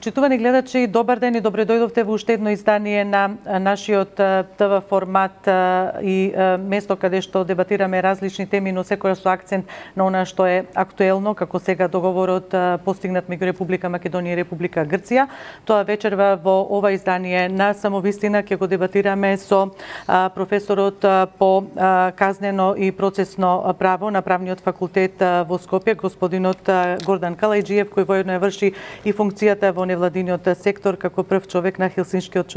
Почитувани гледачи, добар ден и добре дојдовте во уште едно издание на нашиот ТВ формат и место каде што дебатираме различни теми, но секоја со акцент на она што е актуелно, како сега договорот постигнат меѓу Република Македонија и Република Грција. Тоа вечерва во ова издание на Самовистина ќе го дебатираме со професорот по казнено и процесно право на Правниот факултет во Скопје, господинот Гордан Калајџиев, кој воедно ја врши и функцијата во невладиниот сектор како прв човек на Хелсиншкиот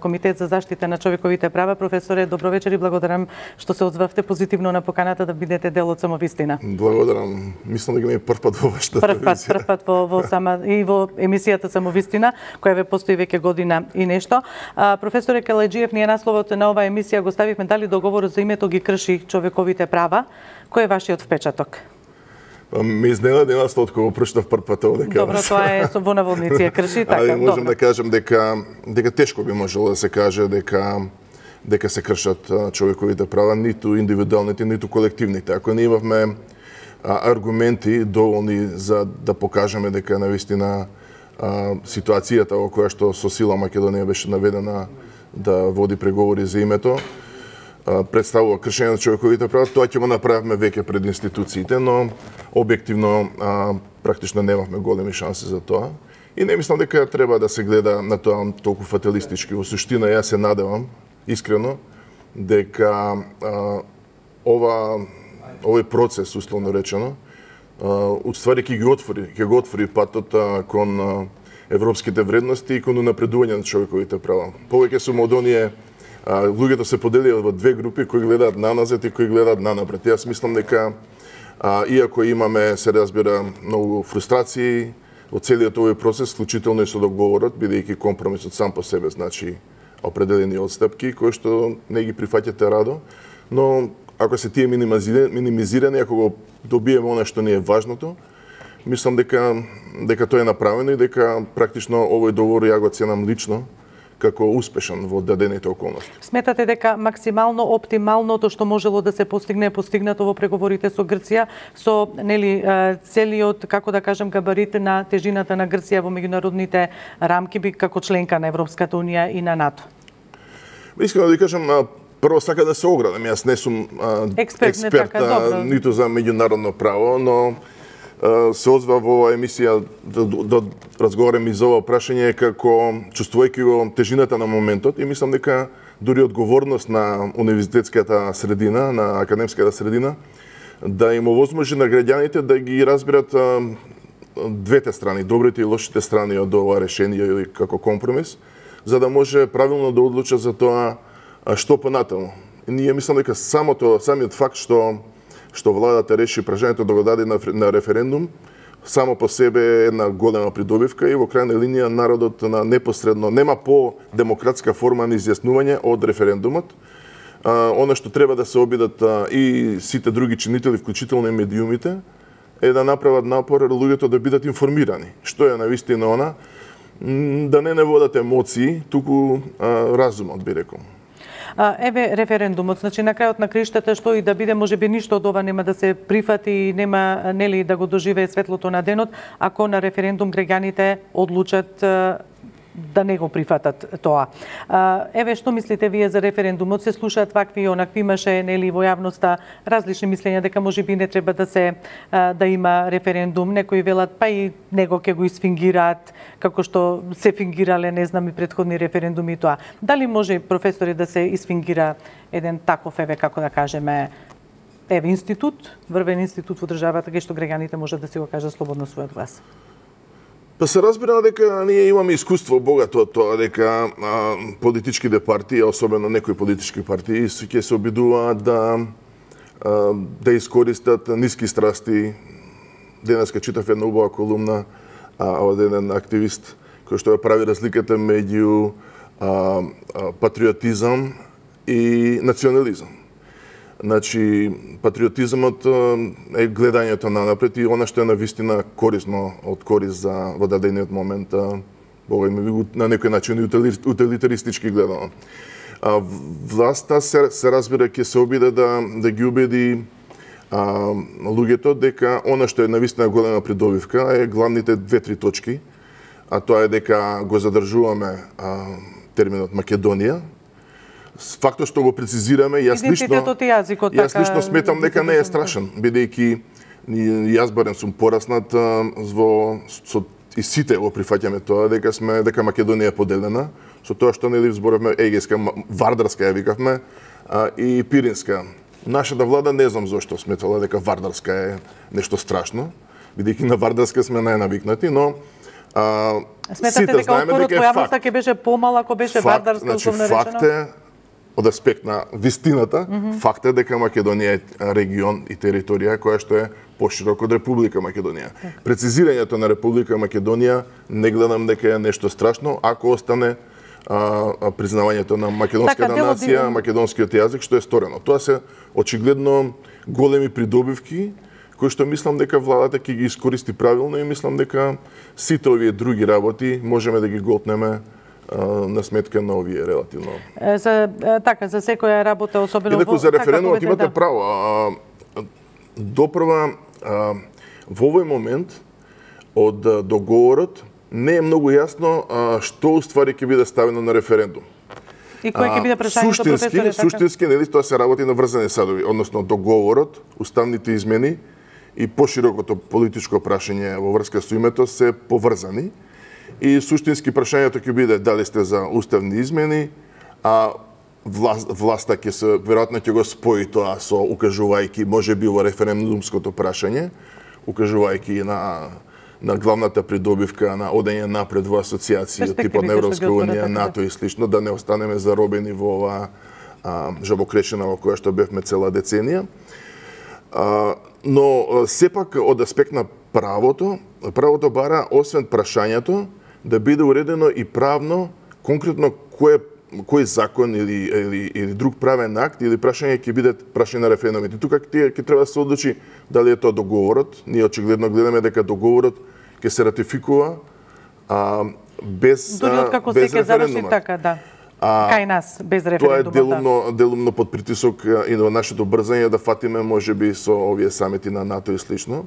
комитет за заштита на човековите права. Професоре, добро вечер и благодарам што се озвавте позитивно на поканата да бидете дел од Самовистина. Благодарам. Мислам дека ми е прв пат во вашата телевизија. Прв пат во емисијата Самовистина, која ве постои веќе година и нешто. Професоре Калајџиев, ние насловот на оваа емисија го ставивме дали договорот за името ги крши човековите права. Кој е вашиот впечаток? Ме изненади насловот кога прочитав прв пат овде. Добро, тоа е со во наводници ја крши, така. Али можам да кажем дека тешко би можело да се каже дека се кршат човековите права, ниту индивидуалните, ниту колективните. Ако не имавме аргументи доволни за да покажеме дека навистина ситуацијата во која што со сила Македонија беше наведена да води преговори за името, представува кршење на човековите права, тоа ќе го направиме веќе пред институциите, но објективно практично немавме големи шанси за тоа. И не мислам дека треба да се гледа на тоа толку фаталистички. Во суштина, јас се надевам, искрено, дека овој процес, условно речено, уствари ќе го отвори патот кон европските вредности и кон унапредување на човековите права. Повеќе сум од оние луѓето се поделија во две групи, кои гледаат наназад и кои гледаат нанапред. Јас мислам дека иако имаме, се разбира, многу фрустрации од целиот овој процес, вклучително и со договорот, бидејќи компромисот сам по себе значи определени отстапки кои што не ги прифаќате радо, но ако се тие минимизирани, ако го добиеме она што ни е важното, мислам дека тоа е направено и дека практично овој договор ја го ценам лично како успешен во дадените околности. Сметате дека максимално оптималното што можело да се постигне е постигнато во преговорите со Грција, со целиот, како да кажем, габарит на тежината на Грција во меѓународните рамки како членка на Европската унија и на НАТО? Искам да ви кажам, прво сака да се оградам. Јас не сум експерт ниту за меѓународно право, но се озвав во оваа емисија да разговарам и за ова прашање како чувствувајќи го тежината на моментот и мислам дека дури одговорност на универзитетската средина, на академската средина, да им овозможи на граѓаните да ги разберат двете страни, добрите и лошите страни од ова решение или како компромис, за да може правилно да одлучат за тоа што понатаму. Ние мислам дека самиот факт што владата реши прашањето да го даде на референдум, само по себе е една голема придобивка и во крајна линија народот непосредно нема по-демократска форма на изјаснување од референдумот. Она што треба да се обидат и сите други чинители, вклучително и медиумите, е да направат напор луѓето да бидат информирани. Што е навистина она? Да не водат емоции, туку разумот, би рекол. Еве референдумот, значи на крајот на краиштата што и да биде, можеби ништо од ова нема да се прифати и нема нели да го доживее светлото на денот, ако на референдум граѓаните одлучат да не го прифатат тоа. Еве што мислите вие за референдумот? Се слушаат вакви и онакви, имаше нели во јавноста различни мислења дека можеби не треба да има референдум. Некои велат па и него ќе го изфингираат како што се фингирале, не знам, и претходни референдуми и тоа. Дали може, професори, да се изфингира еден таков, еве, како да кажеме, институт, врвен институт во државата, кај што граѓаните можат да си го кажат слободно својот глас? Па се разбира дека ние имаме искуство богато од тоа, дека политичките партии, особено некои политички партии, ќе се обидуваат да искористат ниски страсти. Денеска читав една убава колумна од еден активист кој што ја прави разликата меѓу патриотизам и национализам. Значи, патриотизмот е гледањето нанапред и она што е навистина корисно од корис за во дадениот момент, на некој начин утилитаристички гледано. Власта се разбира ќе се обиде да ги убеди луѓето дека она што е навистина голема придобивка е главните 2-3 точки а тоа е дека го задржуваме терминот Македонија. Фактот што го прецизираме, јас лично сметам дека не е страшен, бидејќи јас барем сум пораснат со и сите го прифаќаме тоа дека Македонија е поделена, со тоа што нели зборавме Егејска, Вардарска ја викавме и Пиринска. Нашата влада не знам зошто сметала дека Вардарска е нешто страшно, бидејќи на Вардарска сме најнавикнати, но сметате дека отпорот во јавноста ќе беше помал ако беше Вардарска условно речено? Факт е, од аспект на вистината, факт е дека Македонија е регион и територија која што е поширок од Република Македонија. Прецизирањето на Република Македонија не гледам дека е нешто страшно, ако остане признавањето на македонската нација, македонскиот јазик, што е сторено. Тоа се очигледно големи придобивки, кои што мислам дека владата ќе ги искористи правилно и мислам дека сите овие други работи можеме да ги голтнеме на сметка на овие релативно. За секоја работа, особено во за референдумот имате право. Допрва во овој момент од договорот не е многу јасно што уствари ќе биде ставено на референдум. И кој ќе биде прашањето, професоре? Суштински, нели, тоа се работи на врзани садови, односно договорот, уставните измени и поширокото политичко прашање во врска со името се поврзани. И суштински прашањето ќе биде дали сте за уставни измени, а власта ќе се веројатно ќе го спои тоа со укажувајќи можеби во референдумското прашање, укажувајќи на главната придобивка на одење напред во асоциации од типот на Европска унија, НАТО и слично, да не останеме заробени во оваа жабокречина во која што бевме цела деценија. Но сепак од аспект на правото бара освен прашањето да биде уредено и правно конкретно кој закон или друг правен акт или прашање ќе биде прашање на референдумите. Тука ќе треба да се одлучи дали е тоа договорот. Ние очигледно гледаме дека договорот ќе се ратификува без дури откако се ќе заврши така, да. Кај нас без референдумот. Тоа е делумно под притисок и на нашето брзање да фатиме можеби со овие самити на НАТО и слично.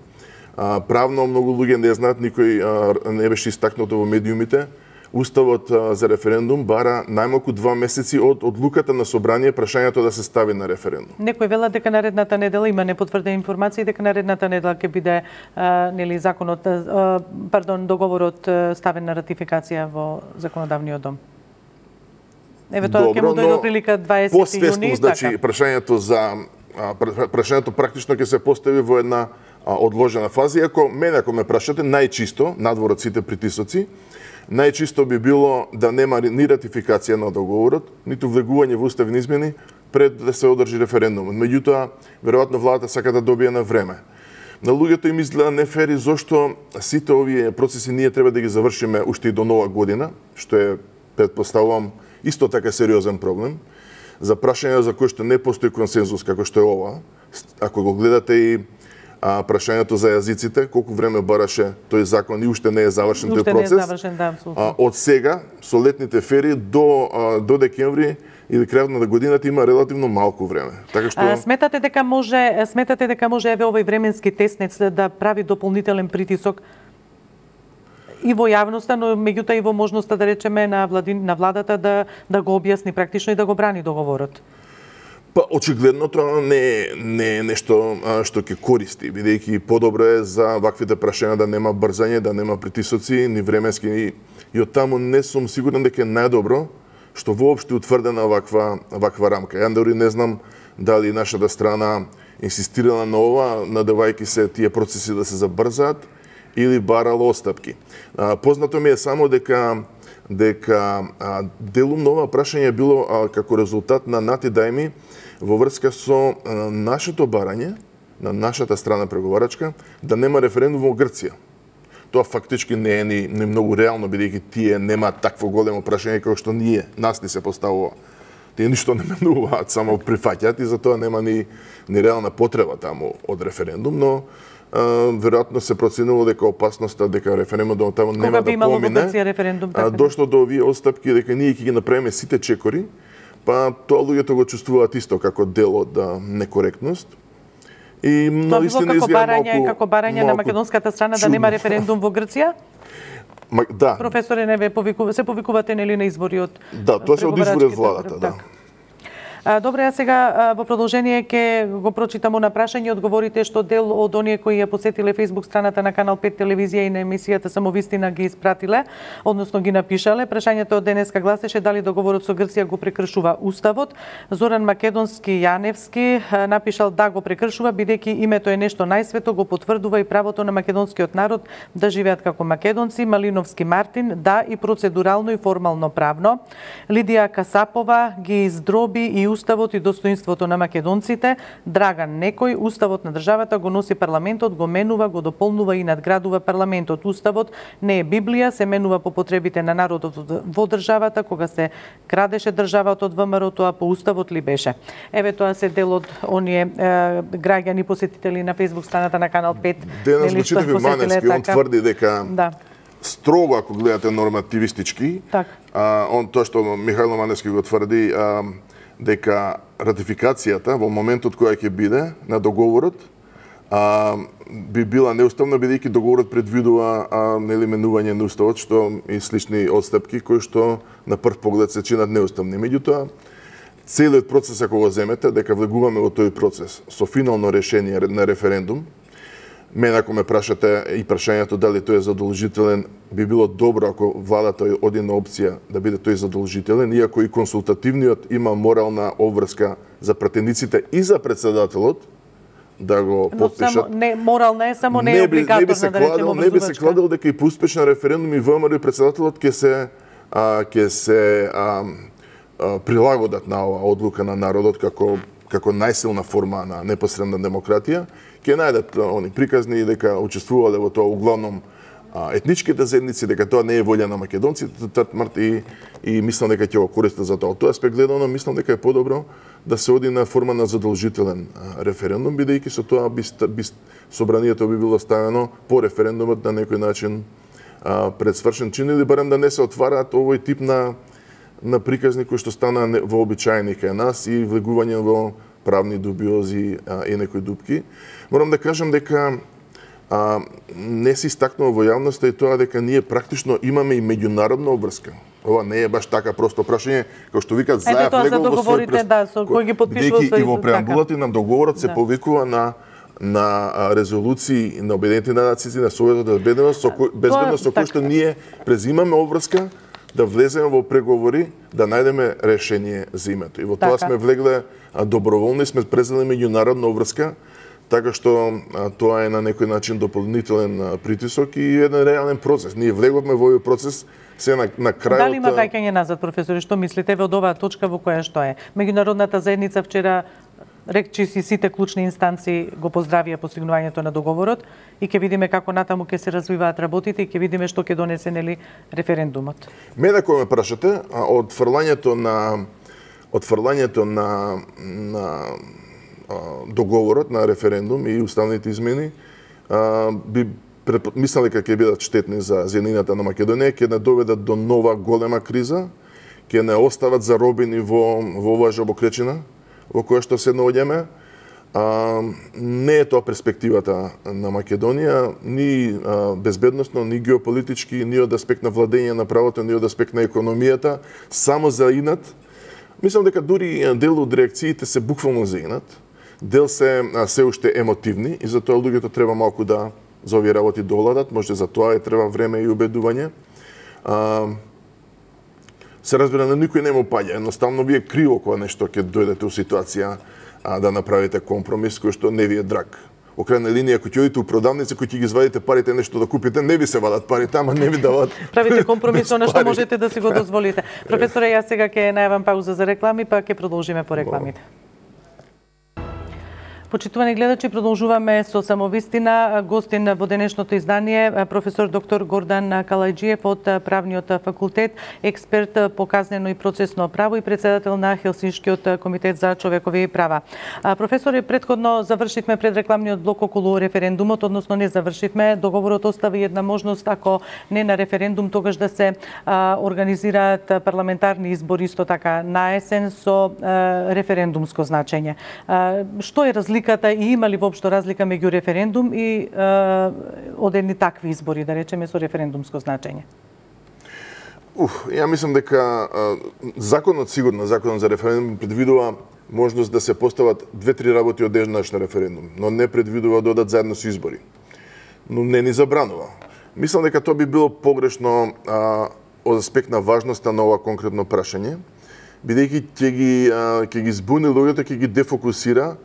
Правно многу луѓе не знаат, никој не беше истакнато во медиумите. Уставот за референдум бара најмалку 2 месеци од одлуката на собрание прашањето да се стави на референдум. Некој велат дека наредната недела има непотврдени информации дека наредната недела ќе биде нели договорот ставен на ратификација во законодавниот дом. Еве тоа ќе му дојде прилика 20 јуни. Значи прашањето практично ќе се постави во една одложена фаза, ако ме прашате најчисто надвор од сите притисоци, најчисто би било да нема ни ратификација на договорот, ниту влегување во уставни измени пред да се одржи референдумот. Меѓутоа, веројатно владата сака да добие на време. На луѓето им изгледа нефери зошто сите овие процеси ние треба да ги завршиме уште и до нова година, што е, претпоставувам, исто така сериозен проблем. За прашање за кој што не постои консензус како што е ова, ако го гледате и прашањето за јазиците, колку време бараше тој закон и уште не е завршен тој процес. Уште не е завршен, да, апсолутно. Од сега, со летните фери до декември или крајот на годината има релативно малку време. Така што сметате дека може еве овој временски теснец да прави дополнителен притисок и во јавноста, но меѓутоа и во можноста да речеме на владата да го објасни практично и да го брани договорот? Па очигледно тоа не е нешто што ќе користи, бидејќи подобро е за ваквите прашања да нема брзање, да нема притисоци, ни временски и од таму не сум сигурен дека е најдобро што воопшто утврдена ваква рамка. Ја дори не знам дали нашата страна инсистирала на ова, надевајќи се тие процеси да се забрзаат или барала отстапки. Познато ми е само дека делумно ова прашање било како резултат на натидајми во врска со нашето барање, на нашата страна преговарачка, да нема референдум во Грција. Тоа фактички не е ни многу реално, бидејќи тие нема такво големо прашање како што нас ни се поставува. Тие ништо не менуваат, само прифаќаат и затоа нема ни реална потреба таму од референдум, но веројатно се проценило дека опасноста дека референдумот таму нема да помине, дошло до овие отстапки дека ние ќе ги направиме сите чекори, па тоа луѓето го чувствуваат исто како дел од некоректност. И тоа било како барање на македонската страна да нема референдум во Грција? Да. Професоре, не се повикувате нели на избори од Да, тоа се од избори од владата, да. Добре, а сега во продолжение ќе го прочитам на прашање, одговорите што дел од оние кои ја посетиле Facebook страната на Канал 5 телевизија и на емисијата Самовистина ги испратиле, односно ги напишале. Прашањето од денеска гласеше дали договорот со Грција го прекршува уставот. Зоран Македонски Јаневски напишал да го прекршува, бидејќи името е нешто најсвето, го потврдува и правото на македонскиот народ да живеат како македонци. Малиновски Мартин да и процедурално и формално правно. Лидија Касапова ги издроби и уставот и достоинството на македонците. Драган Некој, уставот на државата го носи парламентот, го менува, го дополнува и надградува парламентот. Уставот не е Библија, се менува по потребите на народот во државата, кога се крадеше државата од ВМРО, а по уставот ли беше? Еве тоа се дел од оние граѓани посетители на Facebook страната на Канал 5. Денес го читав Маневски, он тврди дека строго, ако гледате нормативистички, тоа што Михајло Маневски го тврди, дека ратификацијата во моментот која ќе биде на договорот би била неуставна, бидејќи договорот предвидува менување на уставот, што и слични отстапки кои што на прв поглед се чинат неуставни. Меѓутоа, целиот процес ако го земете, дека влегуваме во тој процес со финално решение на референдум, мене ако ме прашате и прашањето дали тој е задолжителен, би било добро ако владата оди на опција да биде тој задолжителен, иако и консултативниот има морална обврска за пратениците и за председателот да го потпишат. Не, морална е, само не е облигаторна, да речеме обврзувачка. Не би се кладил дека и по успешен референдум и ВМРО и председателот ќе се прилагодат на оваа одлука на народот како најсилна форма на непосредна демократија, ќе најдат они приказни дека учествувале во тоа углавном етничките заедници, дека тоа не е волја на македонците, и мислам дека ќе го користат за тоа. Од тој аспект гледано, мислам дека е подобро да се оди на форма на задолжителен референдум, бидејќи со тоа собранието би било ставено по референдумот на некој начин пред свршен чин, или барем да не се отвараат овој тип на приказни кои што стана вообичаени кај нас и влегување во правни дубиози и некои дупки. Морам да кажам дека не се истакнува во јавноста и тоа дека ние практично имаме и меѓународна обврска. Ова не е баш така просто прашање, како што викат заев влегол во свој кој ги потпишува и во преамбулата на договорот се повикува на резолуции на Обединетите нации, на Советот за безбедност, со кој што ние презимаме обврска да влеземе во преговори, да најдеме решение за името. И во тоа сме влегле доброволно и сме презели меѓународна обврска, така што тоа е на некој начин дополнителен притисок и еден реален процес. Ние влеговме во овој процес се на крајот. Дали има враќање назад, професори, што мислите од оваа точка во која што е? Меѓународната заедница вчера речи си сите клучни инстанции го поздравија постигнувањето на договорот и ќе видиме како натаму ќе се развиваат работите и ќе видиме што ќе донесе нели референдумот. Мене кој ме прашате, од фрлањето на договорот на референдум и уставните измени би мислам дека ќе бидат штетни за земјината на Македонија, ќе не доведат до нова голема криза, ќе не остават заробени во оваа жабокречина во која што се наоѓаме. Не е тоа перспективата на Македонија, ни безбедносно, ни геополитички, ни од аспект на владење на правото, ни од аспект на економијата, само за инат. Мислам дека дури дел од реакциите се буквално за инат, дел се уште емотивни и затоа луѓето треба малку да за овие работи доладат, може за тоа и треба време и убедување. Се разбира, на никој не му паѓа. Едноставно ви е криво кога нешто ќе дојдете у ситуација да направите компромис кој што не ви е драг. Во крајна линија, ако ќе одите у продавница, кој ќе ги извадите парите нешто да купите, не ви се вадат парите, ама не ви дават. Правите компромис на што можете да си го дозволите. Професоре, јас сега ќе најавам пауза за реклами, па ќе продолжиме по рекламите. Почитувани гледачи, продолжуваме со Самовистина. Гостин во денешното издание професор доктор Гордан Калајџиев од Правниот факултет, експерт по казнено и процесно право и председател на Хелсиншкиот комитет за човекови права. Професоре, претходно завршивме предрекламниот блок околу референдумот, односно не завршивме. Договорот остави една можност, ако не на референдум, тогаш да се организираат парламентарни избори исто така на есен со референдумско значење. Што е различно разликата и има ли воопшто разлика меѓу референдум и одедни такви избори, да речеме, со референдумско значење? Ја мислам дека законот за референдум предвидува можност да се постават 2-3 работи одеднаш на референдум, но не предвидува да одат заедно со избори. Но не ни забранува. Мислам дека тоа би било погрешно од аспект на важноста на ова конкретно прашање, бидејќи ќе ги збуни луѓето, ќе ги дефокусира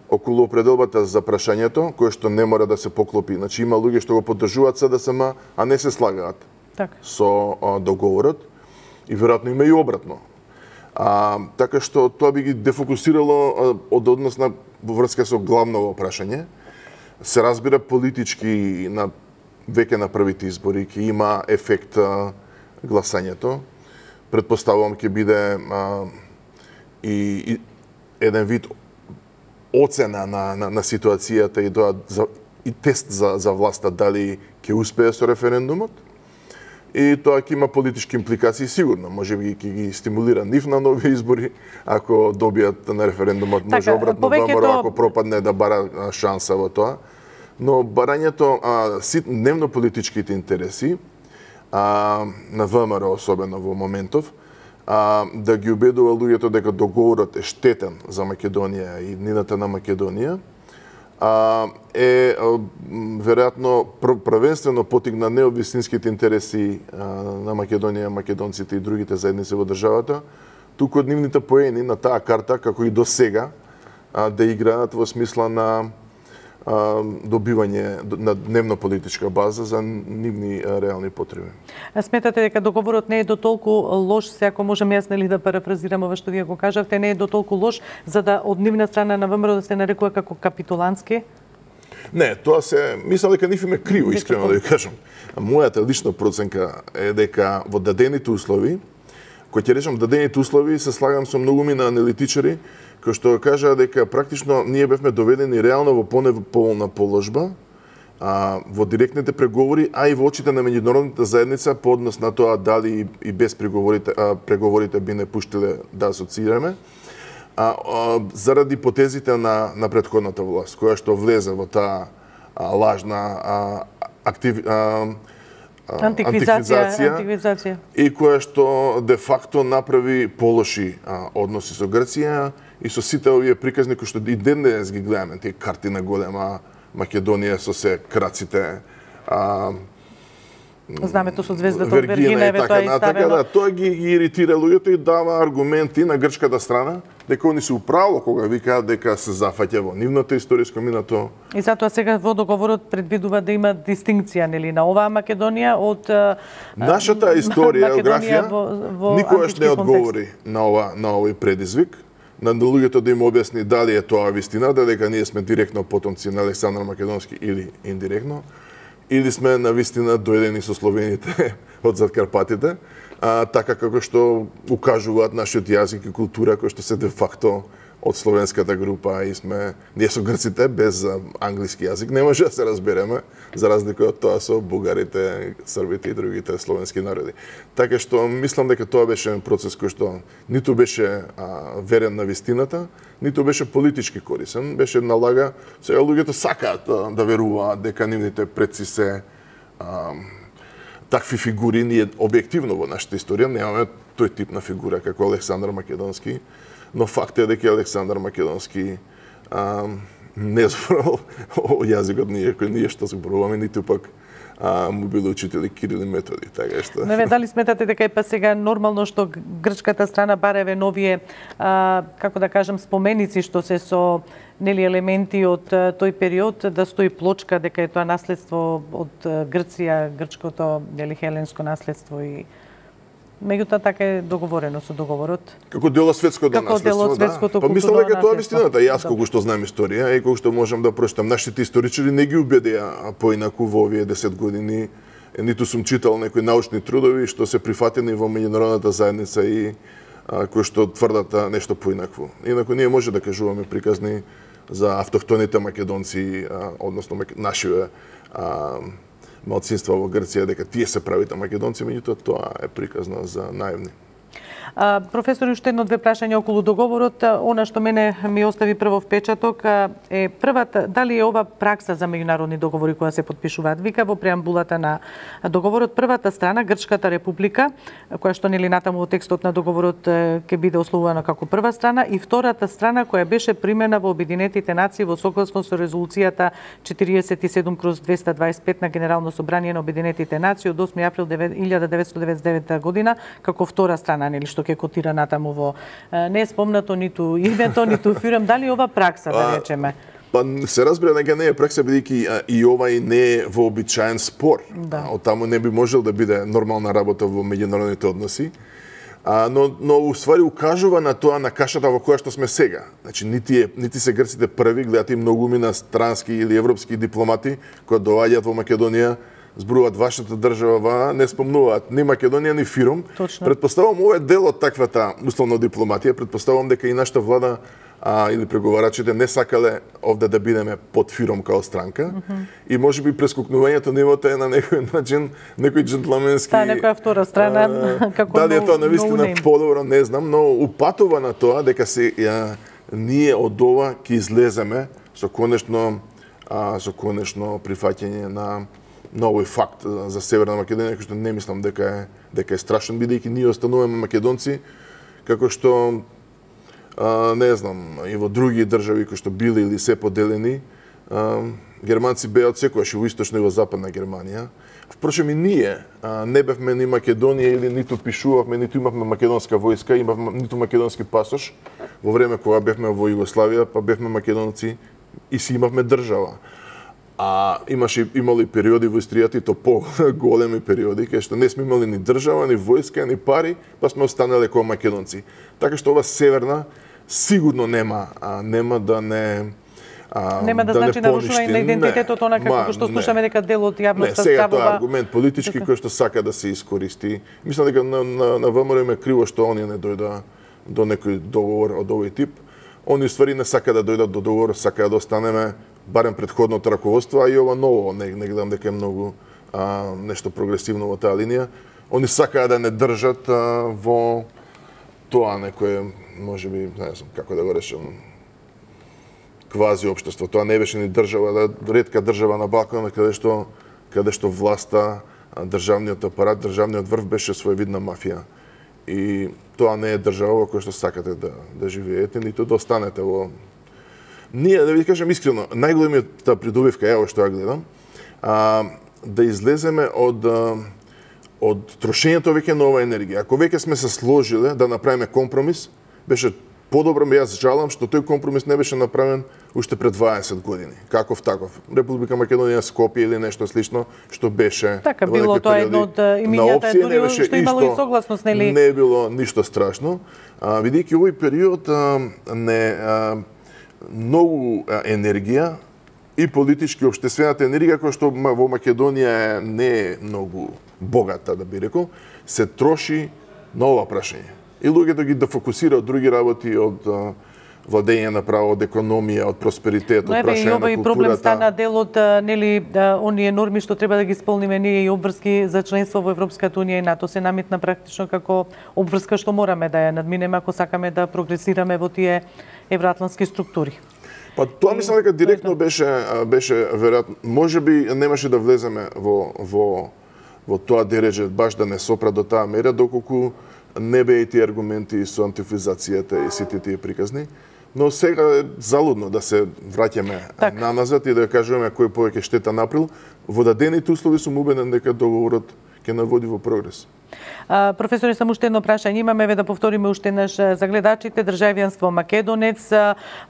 околу определбата за прашањето, кое што не мора да се поклопи. Значи има луѓе што го поддржуваат СДСМ, а не се слагаат со договорот, и веројатно има и обратно. Така што тоа би ги дефокусирало од однос на врска со главното прашање. Се разбира политички веќе на првите избори ќе има ефект гласањето. Предпоставувам ќе биде и еден вид оцена на ситуацијата и тест за власта дали ќе успее со референдумот. И тоа ќе има политички импликации сигурно. Може би ќе ги стимулира нив на нови избори, ако добијат на референдумот, може обратно ВМРО ако пропадне да бара шанса во тоа. Но барањето дневно политичките интереси на ВМРО особено во моментов, да ги убедува луѓето дека договорот е штетен за Македонија и иднината на Македонија, е веројатно првенствено потигна не од вистинските интереси на Македонија, македонците и другите заедници во државата, туку од нивните поени на таа карта, како и до сега, да играат во смисла на добивање на дневно политичка база за нивни реални потреби. Сметате дека договорот не е дотолку лош, се ако можам јас да парафразирам ова што вие го кажавте, не е дотолку лош за да од нивна страна на ВМРО да се нарекува како капитулантски? Не, тоа се мислам дека нив им е криво, искрено да ви кажам. Мојата лична проценка е дека во дадените услови, кој ќе речам дадените услови, се слагам со многумина аналитичари кои што кажаа дека практично ние бевме доведени реално во понеполна положба во директните преговори, а и во очите на меѓународната заедница по однос на тоа дали и без преговорите би не пуштиле да асоциираме, заради потезите на претходната власт, која што влезе во таа лажна антиквизација и која што де факто направи полоши односи со Грција и со сите овие приказни кои што и денес ги гледаме, тие карти на голема Македонија со се краците, знамето со звездата од Вергина, тоа е ставено. Тоа ги иритира луѓето и дава аргументи на грчката страна дека они се управо кога викаат дека се зафаќа во нивното историско минато. И затоа сега во договорот предвидува да има дистинкција на оваа Македонија од нашата историја, географија никогаш не одговори на овој предизвик. На луѓето да им објасни дали е тоа вистина, дека ние сме директно потомци на Александар Македонски или индиректно, или сме на вистина дојдени со словените од зад Карпатите, така како што укажуваат нашиот јазик и култура, кој што се де факто од словенската група и сме ние со грците без англиски јазик не може да се разбереме, за разлика од тоа со бугарите, србите и другите словенски народи. Така што мислам дека тоа беше процес кој што ниту беше верен на вистината, ниту беше политички корисен, беше една лага. Сега луѓето сакаат да веруваат дека нивните предци се такви фигури. Ние објективно во нашата историја немаме тој тип на фигура како Александар Македонски, но факт е дека Александар Македонски не зборал јазикот кој ние што зборуваме, ниту пак му биле учители Кирил и Методи, така што. Не, дали сметате дека е па сега нормално што грчката страна бареве новие како да кажам споменици што се со елементи од тој период, да стои плочка дека е тоа наследство од Грција, грчкото хеленско наследство и меѓутоа така е договорено со договорот. Како дел од светското наследство, да. Па мислам дека тоа вистината. Јас колку што знам историја и колку што можам да прочитам, нашите историчари не ги убедија поинаку во овие 10 години. Ниту сум читал некои научни трудови што се прифатени во меѓународната заедница и кои што тврдат нешто поинакво. Инаку ние може да кажуваме приказни за автохтоните македонци, односно нашиве малцинства во Грција, дека тие се правите македонци, меѓутоа тоа е приказна за наивни. Професор, уште едно-две прашања околу договорот. Она што мене ми остави прво впечаток е првата, дали е ова пракса за меѓународни договори која се потпишуваат? Вика во преамбулата на договорот, првата страна, Грчката република, која што нели натаму во текстот на договорот ќе биде ословувана како прва страна, и втората страна која беше примена во Обединетите нации во согласно со резолуцијата 47/225 на Генерално собрание на Обединетите нации од 8 април 1999 година како втора страна, нели што ќе котира натаму во не е спомнато ниту името, ниту фирм, дали ова пракса да речеме? Па се разбира дека не е пракса, бидејќи и овај не е вообичаен спор. Од таму не би можел да биде нормална работа во меѓународните односи. Но уствари укажува на тоа, на кашата во која што сме сега. Значи, нити се грците први, гледате и многуми на странски или европски дипломати кои доаѓаат во Македонија, зборуваат вашата држава, не спомнуваат ни Македонија, ни фирм. Предпоставувам ова е дел од таквата условно дипломатија. Предпоставувам дека и нашата влада или преговарачите не сакале овде да бидеме под фирм као странка. И можеби прескокнувањето нивото е на некој начин, некој джентлменски... некоја втора страна, како дали е тоа навистина подобро, не знам, но упатува на тоа дека ние од ова ќе излеземе со конечно прифаќање на овој факт за Северна Македонија, кој што не мислам дека е страшен, бидејќи ние остануваме македонци, како што не знам, и во други држави кои што били или се поделени, германци беа од секојаш и во источна и во западна Германија. Впрочем и ние не бевме ни Македонија или ниту пишувавме, ниту имавме македонска војска, ниту македонски пасош во време кога бевме во Југославија, па бевме македонци и си имавме држава. Имало и периоди во историјата, и то по-големи периоди, кај што не сме имали ни држава, ни војска, ни пари, па сме останале како македонци. Така што ова северна сигурно нема да не нема да значи нарушување на идентитетот, онака како што слушаме дека дел од јавноста ставува. Сега тоа е аргумент политички кој што сака да се искористи. Мислам дека на ВМРО е криво што они не дојда до некој договор од овој тип. Они ствари не сака да дојдат до договор, сака да останеме барем предходното раководство, а и ова ново, не гледам дека е многу нешто прогресивно во таа линија. Они сакаат да не држат во тоа некое, можеби, не знам како да го речам, квази општество. Тоа не беше ни држава, ретка држава на Балканот каде што власта, државниот апарат, државниот врв беше своевидна мафија. И тоа не е држава во која што сакате да живеете, ниту да останете во... Ние, да ви кажем искрено, најголемиот придобивка, ево што ја гледам, да излеземе од трошењето веќе на оваа енергија. Ако веќе сме се сложиле да направиме компромис, беше подобро, јас жалам што тој компромис не беше направен уште пред 20 години. Каков таков. Република Македонија, Скопје или нешто слично, што беше... Така било тоа едно од имињата, дури што имало и согласност, нели? Не било ништо страшно. Видејќи овој период многу енергија и политички општествената енергија која што во Македонија не е многу богата, да би рекол, се троши на ова прашање. И луѓето ги фокусира од други работи, од владење на право, од економија, од просперитет, од прашање на културата. И проблем стана дел од оние норми што треба да ги исполниме ние и обврски за членство во Европската унија и НАТО се наметна практично како обврска што мораме да ја надминеме ако сакаме да прогресираме во тие евроатлантски структури. Па тоа мислам дека директно беше веројатно, можеби немаше да влеземе во тоа дереже баш да не сопра до таа мера доколку не беа и тие аргументи со антифизацијата и сите тие приказни. Но сега е залудно да се враќаме наназад и да кажеме кој повеќе штета направил. Во дадените услови сум убеден дека договорот ќе наводи во прогрес. Професоре, само уште едно прашање имаме, да повториме уште еднаш за гледачите. Државјанство македонец,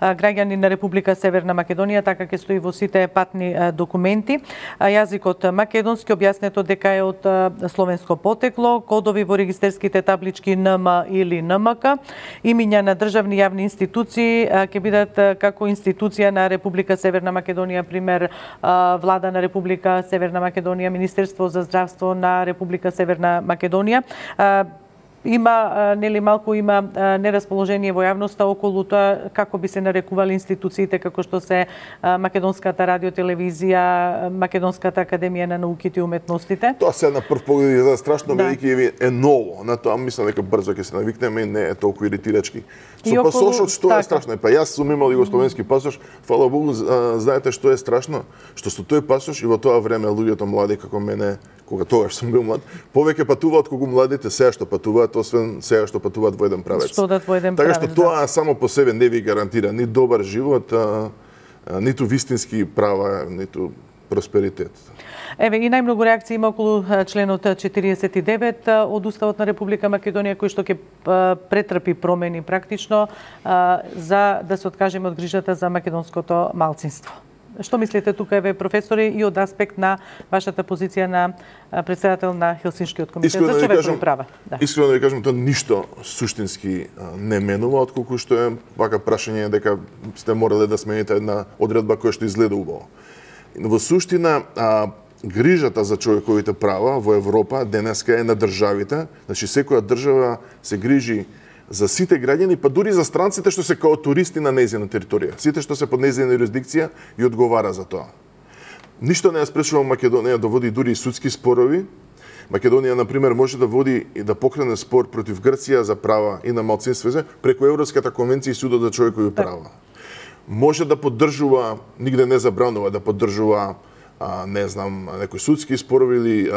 граѓани на Република Северна Македонија, така ќе стои во сите патни документи. Јазикот македонски, објаснето дека е од словенско потекло, кодови во регистерските таблички НМ или НМК, имиња на државни јавни институции ќе бидат како институција на Република Северна Македонија, пример Влада на Република Северна Македонија, Министерство за здравство на Република Северна Македонија. има нели малку има нерасположение во јавноста околу тоа како би се нарекували институциите како што се Македонската радиотелевизија, Македонската академија на науките и уметностите. Тоа се на прв поглед изгледа страшно велики е ново. На тоа мислам дека брзо ќе се навикнеме и не е толку иритирачки. Со пасошот што е страшно? Па јас сум имал југословенски пасош, фала Богу, знаете што е страшно? Што со тој пасош и во тоа време луѓето млади како мене, кога тогаш сум бил млад, повеќе патуваат колку младите сега што патуваат, освен сега што патуваат во еден правец. Така што тоа само по себе не ви гарантира ни добар живот, ниту вистински права, ниту просперитет. Еве и најмногу реакции има околу членот 49 од Уставот на Република Македонија кој што ќе претрпи промени практично за да се откажеме од грижата за македонското малцинство. Што мислите тука, еве, професори, и од аспект на вашата позиција на председател на Хелсиншкиот комитет за човекови права? Искрено да ви кажам, тоа ништо суштински не менува, отколку што е вака прашање дека сте морале да смените една одредба која што изгледа убаво. Во суштина, грижата за човековите права во Европа денеска е на државите, значи секоја држава се грижи за сите граѓани, па дури за странците што се као туристи на нејзина територија. Сите што се под нејзина юрисдикција и одговара за тоа. Ништо не ја спречува Македонија да води дури и судски спорови. Македонија, например, може да води и да покрене спор против Грција за права и на малцинствата преку Европската конвенција и Судот за човекови права. Може да поддржува, нигде не забранува да поддржува, не знам, некои судски спорови или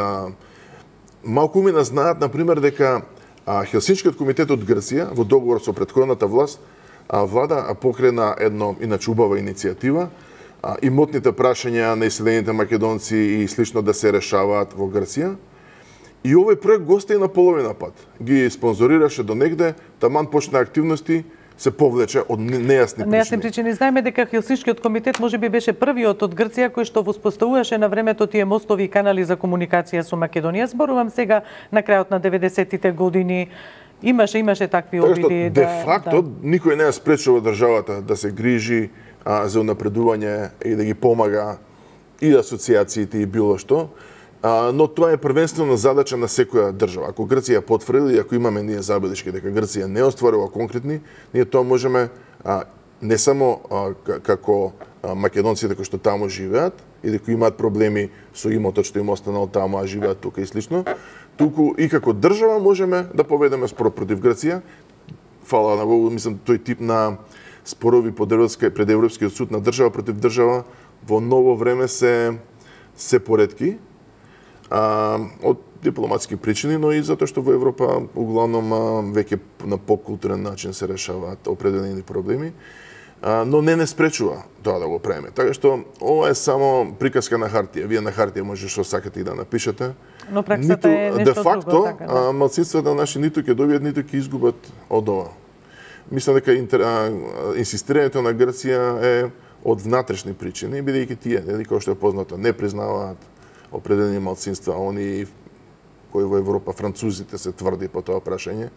малку ми знаат, например, дека Хелсиншкиот комитет од Грција во договор со претходната власт влада покрена едно иначе убава иницијатива имотните прашања на иселените македонци и слично да се решаваат во Грција. И овој проект го остави на половина пат. Ги спонзорираше до негде, таман почна активности, се повлече од нејасни причини. Нејасни причини. Знаеме дека Хелсиншкиот комитет можеби беше првиот од Грција кој што воспоставуваше на времето тие мостови и канали за комуникација со Македонија. Зборувам сега на крајот на 90-тите години. Имаше такви обиди. Де факто никој не ја спречува државата да се грижи за унапредување и да ги помага и асоциациите и било што. Но тоа е првенствено задача на секоја држава. Ако Грција потврди, ако имаме ние забелешки дека Грција не остварува конкретни, ние тоа можеме не само како македонците кои што таму живеат и дека имаат проблеми со имотот што им останал таму, а живеат тука и слично, туку и како држава можеме да поведеме спор против Грција. Фала на Богу, мислам тој тип на спорови пред Европскиот суд на држава против држава во ново време се поретки. Од дипломатски причини, но и затоа што во Европа углавном веќе на попкултурен начин се решаваат определени проблеми, но не спречува тоа да го правиме. Така што ова е само приказка на хартија. Вие на хартија може што сакате и да напишете. Но праксата е нешто де факто, друго, така, да. малцинствата наши ниту ќе добијат, ниту ќе изгубат од ова. Мислам дека инсистирањето на Грција е од внатрешни причини, бидејќи тие, како што е познато, не признаваат определени малцинства, они кои во Европа, французите се тврди по тоа прашање.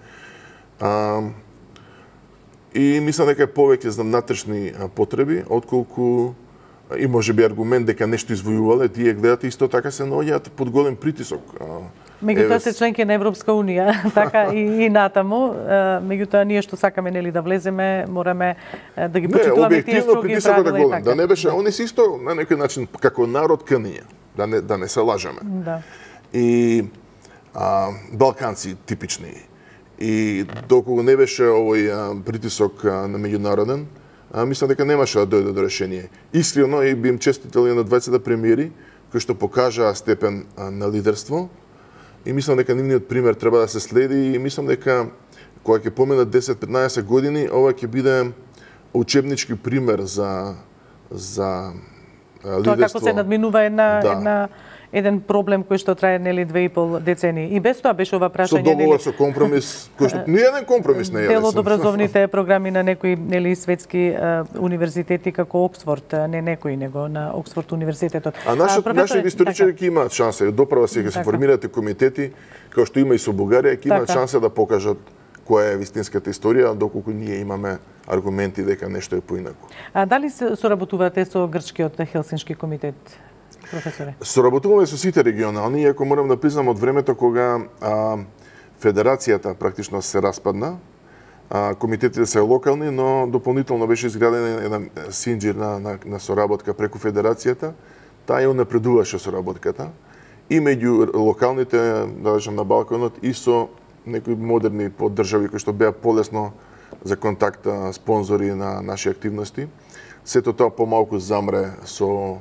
И мислам дека е повеќе за внатрешни потреби, отколку и можеби аргумент дека нешто извојувале, тие гледате исто така се наоѓаат под голем притисок. Меѓутоа се членки на Европска унија, така и натаму. Меѓутоа ние што сакаме нели да влеземе, мораме да ги почитуваме тие строги правила и така. Да не беше, они се исто на некој начин како народ книња. Да не се лажеме. Да. И балканци типични. И доколку не беше овој притисок на меѓународен, мислам дека немаше да дојде до решение. Искрено и би им честитали на 20 премиери кои што покажаа степен на лидерство. И мислам дека нивниот пример треба да се следи и мислам дека кога ќе поминат 10-15 години, ова ќе биде учебнички пример за лидерство. Тоа како се надминува еден проблем кој што трае нели 2,5 децении. И без тоа беше ова прашање со договор со компромис, кој што ни еден компромис не е. Дел од образовните програми на некои нели светски универзитети како Оксфорд, не некои него на Оксфорд универзитетот. Нашите историчари ќе имаат шанса, доправа се ќе се формираат комитети, како што има и со Бугарија, ќе имаат шанса да покажат која е вистинската историја, доколку ние имаме аргументи дека нешто е поинаку. Дали се соработувате со грчкиот Хелсиншки комитет? Професоре? Соработуваме со сите регионални, иако морам да признам од времето кога федерацијата практично се распадна, комитетите се локални, но дополнително беше изградена една синџир на соработка преку федерацијата, таа ја напредуваше соработката и меѓу локалните, да речем на Балканот, и со некои модерни поддржави кои што беа полесно за контакт спонзори на наши активности. Сето тоа помалку замре со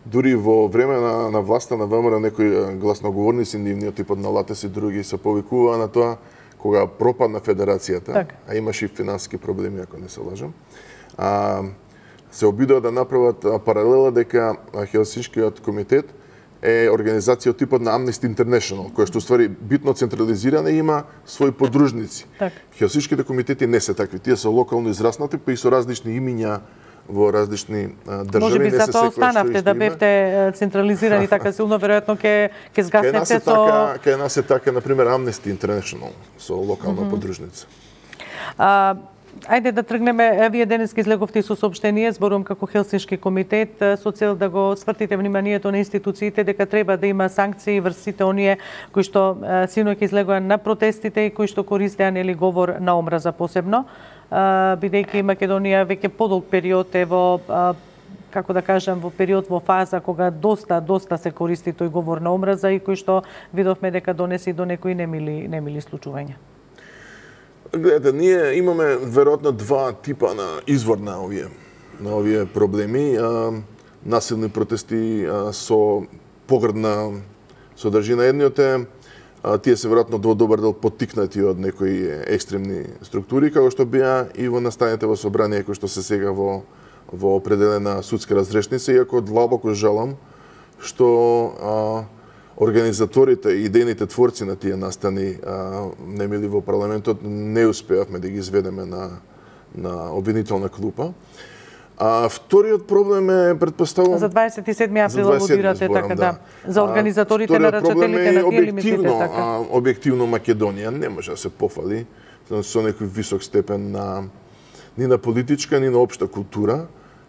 дури во време на власта на ВМРО некои гласноговорници нивни од типот на Латес и други се повикуваа на тоа кога пропадна федерацијата, а имаше и финансиски проблеми ако не се лажам. Се обидоа да направат паралела дека Хелсиншкиот комитет е организација од типот на Amnesty International, која што ствари битно централизирана и има своји подружници. Хелсиншките комитети не се такви, тие се локално израснати, па и со различни имиња во различни држави. Може би затоа останавте да бевте централизирани така силно, веројатно ќе згаснете со... Кај нас е така, например, Amnesty International, со локална подружница. Ајде да тргнеме, вие денеска излеговте со соопштение, зборувам како Хелсиншки комитет, со цел да го свртите вниманието на институциите дека треба да има санкции врз сите оние кои што синоќ излегоа на протестите и кои што користеа нели говор на омраза посебно, бидејќи Македонија веќе подолг период е во како да кажам, во период во фаза кога доста се користи тој говор на омраза и кој што видовме дека донеси до некои немили случувања. Гледате, ние имаме веројатно два типа на извор на овие проблеми. Насилни протести со погрдна содржина. Едниот е, тие се веројатно во добар дел поттикнати од некои екстремни структури, како што беа и во настаните во собрание, кои што се сега во определена судска разрешница, иако длабоко жалам што организаторите и идејните творци на тие настани немили во парламентот не успеавме да ги изведеме на обвинителна клупа. Вториот проблем е, предпоставувам... За 27 април алудирате, така да. За организаторите на рачателите на тие лимитите, така. Објективно Македонија не може да се пофали со некој висок степен ни на политичка, ни на општа култура.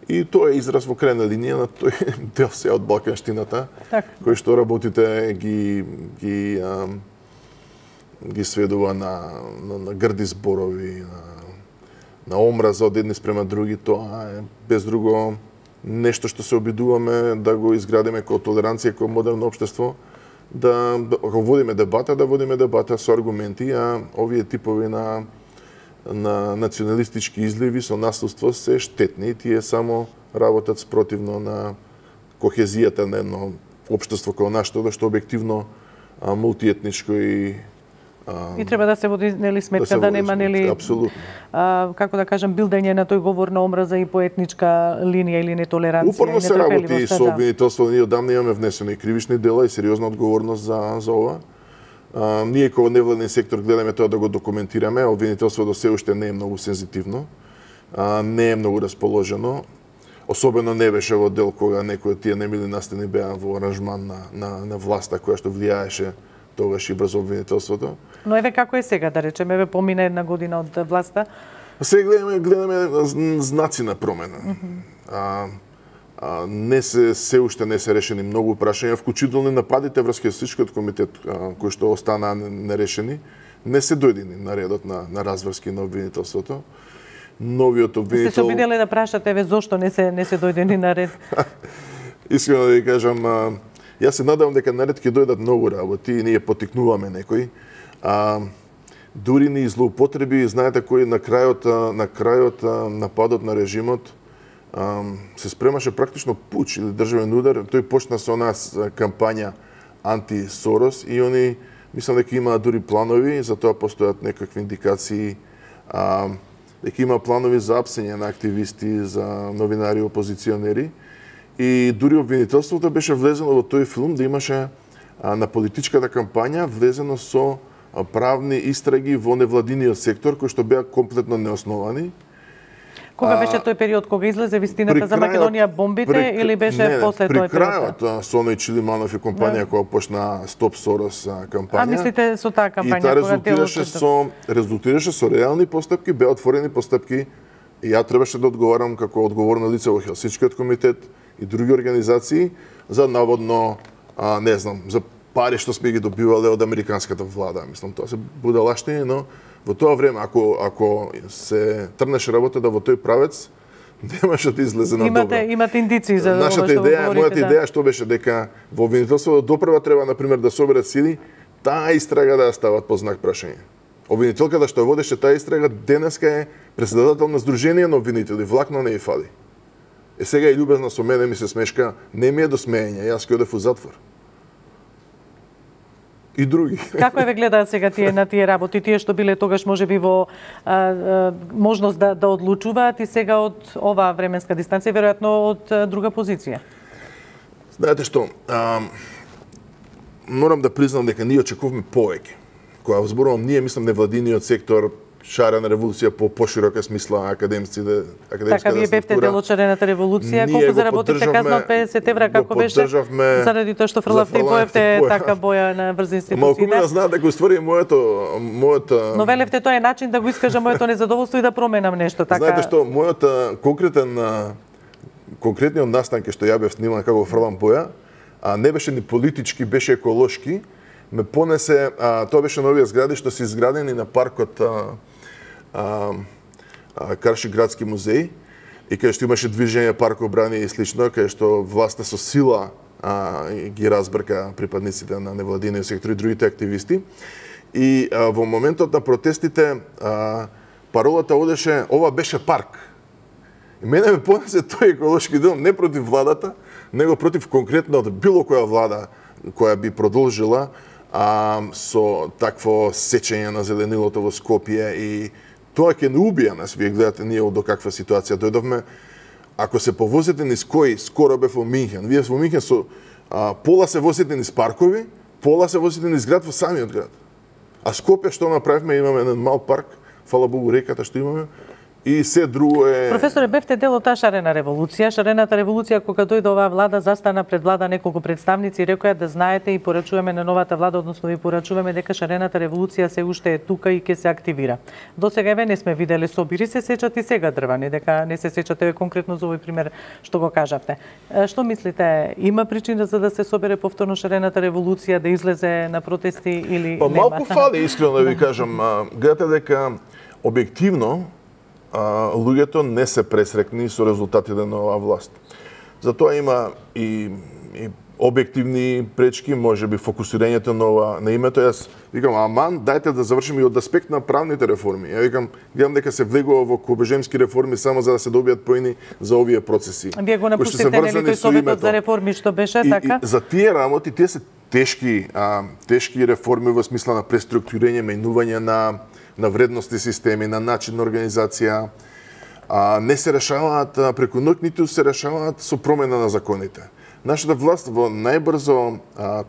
И тоа е израз во крајна линија на тој дел се од балканштината, кој што работите ги сведува на грди зборови, на омраза од едни спрема други. Тоа е без друго нешто што се обидуваме да го изградиме како толеранција, како модерно општество, да ако водиме дебата со аргументи, а овие типови на националистички изливи со насилство се штетни. Тие само работат спротивно на кохезијата на едно општество како нашето, што објективно мултиетничко и треба да се води нели сметка да нема нели како да кажам билдење на тој говор на омраза и по етничка линија или нетолеранција. Упорно се работи со обвинителство, ние одамна имаме внесени кривични дела и сериозна одговорност за ова. Ние како невладен сектор гледаме тоа да го документираме, обвинителството се уште не е многу сензитивно, не е многу расположено. Особено не беше во дел кога некои од тие немили настани беа во аранжман на власта која што влијаеше тогаш и врз обвинителството. Но еве како е сега, да речеме, еве помина една година од власта. Сега гледаме знаци на промена. Се уште не се решени многу прашања, вклучително нападите врз Хелсиншкиот комитет кои што останаа нерешени, не се дојдени на редот на разврски на обвинителството. Новиот обвинител... Сте се обиделе да прашате еве зошто не се дојдени на ред? Искрено да ви кажам, јас се надевам дека на ред ќе дојдат многу работи и ние поттикнуваме некои. Дури ни злоупотреби, знаете кој на крајот нападот на режимот се спремаше практично пуч или државен удар. Тој почна со нас кампања анти-Сорос и они, мислам дека имаат дури планови, за тоа постојат некакви индикации, дека има планови за апсење на активисти, за новинари, опозиционери. И дури обвинителството беше влезено во тој филм да имаше на политичката кампања влезено со правни истраги во невладиниот сектор, кои што беа комплетно неосновани. Кога беше тој период кога излезе вистината за Македонија бомбите или беше после тој период? При крајот со Оној Чилиманов и компанија која почна Стоп Сорос кампања. Мислите со таа кампања? И таа резултираше со реални постапки, беа отворени постапки и ја требаше да одговарам како одговорно лице во Хелсиншкиот комитет и други организации за наводно, не знам, за пари што сме ги добивале од американската влада. Мислам, тоа се будалаштини, но во тоа време, ако се трнеше работата во тој правец, немаше да излезе на добро. Имате индиции за ова што говорите. Мојата идеја што беше дека во обвинителството допрва треба, например, да соберат сили, таа истрага да ја стават под знак прашање. Обвинителката што водеше таа истрага денеска е претседател на Сдружение на обвинители, влакно не и фали. Сега е љубезна со мене, ми се смешка, не ми е до смеење, јас ќе одев у затвор. И други. Како ве гледаат сега на тие работи, тие што биле тогаш можеби во можност да одлучуваат и сега од оваа временска дистанција, веројатно од друга позиција? Знаете што, морам да признам дека ние очекуваме повеќе. Кога зборувам ние, мислам невладиниот сектор, шарена револуција по поширока смисла, академиците, така вие бевте дел од шарената револуција, колку заработивте казна од 50 евра, како беше? Заради тоа што фрлавте и боевте така боја на врз институциите. Малку ме знаат дека уствари мојата... Но велевте тоа е начин да го искажам моето незадоволство и да променам нешто, така? Знаете што, мојата конкретниот настан што ја бев сниман како фрлам боја, не беше ни политички, беше еколошки, ме понесе, тоа беше новија згради што се изградени на паркот Карши градски музеј, и кај што имаше движење парков брани и слично, кај што власта со сила ги разбрка припадниците на невладиниот сектор и другите активисти. И во моментот на протестите паролата одеше ова беше парк. И мене ме понесе тој еколошки дел не против владата, него против конкретно било која влада која би продолжила со такво сечење на зеленилото во Скопје, и тоа ќе не убија нас. Вие гледате ние до каква ситуација дојдовме. Ако се повозите низ кој, скоро бев во Минхен. Вие во Минхен со пола се возите низ паркови, пола се возите низ град во самиот град. А Скопје што направивме, имаме еден мал парк, фала Богу реката што имаме, и се друго е... Професоре, бевте дел од таа шарена револуција. Шарената револуција, кога дојде оваа влада, застана пред влада неколку представници и рекоа да знаете и порачуваме на новата влада, односно ви порачуваме дека шарената револуција се уште е тука и ќе се активира. До сега еве не сме виделе собири, се сечат и сега дрвани, дека не се сечате конкретно за овој пример што го кажавте. Што мислите, има причина за да се собере повторно шарената револуција, да излезе на протести или нема? Малку фали, искрено да ви кажам. Гледате дека објективно луѓето не се пресрекни со резултатите на оваа власт. Затоа има и објективни пречки, можеби фокусирањето на името. Јас викам, аман, дајте да завршиме и од аспект на правните реформи. Ја викам, гледам дека се влегува во кобежемски реформи само за да се добијат поени за овие процеси. Вие го напуштите нели тој советот за реформи што беше така? И за тие работи, тие се тешки реформи во смисла на преструктурирање, менување на вредности системи, на начин на организација, не се решаваат преку ноќ, ниту се решаваат со промена на законите. Нашата власт во најбрзо,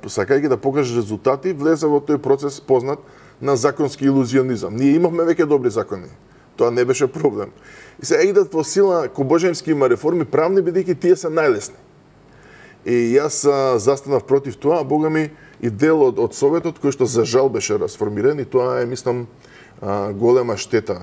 сакајќи да покаже резултати, влезе во тој процес познат на законски илузионизам. Ние имавме веќе добри закони. Тоа не беше проблем. И сега идат во сила, кобожемски има реформи правни, бидејќи тие се најлесни. И јас застанав против тоа, бога ми, и дел од Советот, кој што за жал беше расформиран, и тоа е, мислам, голема штета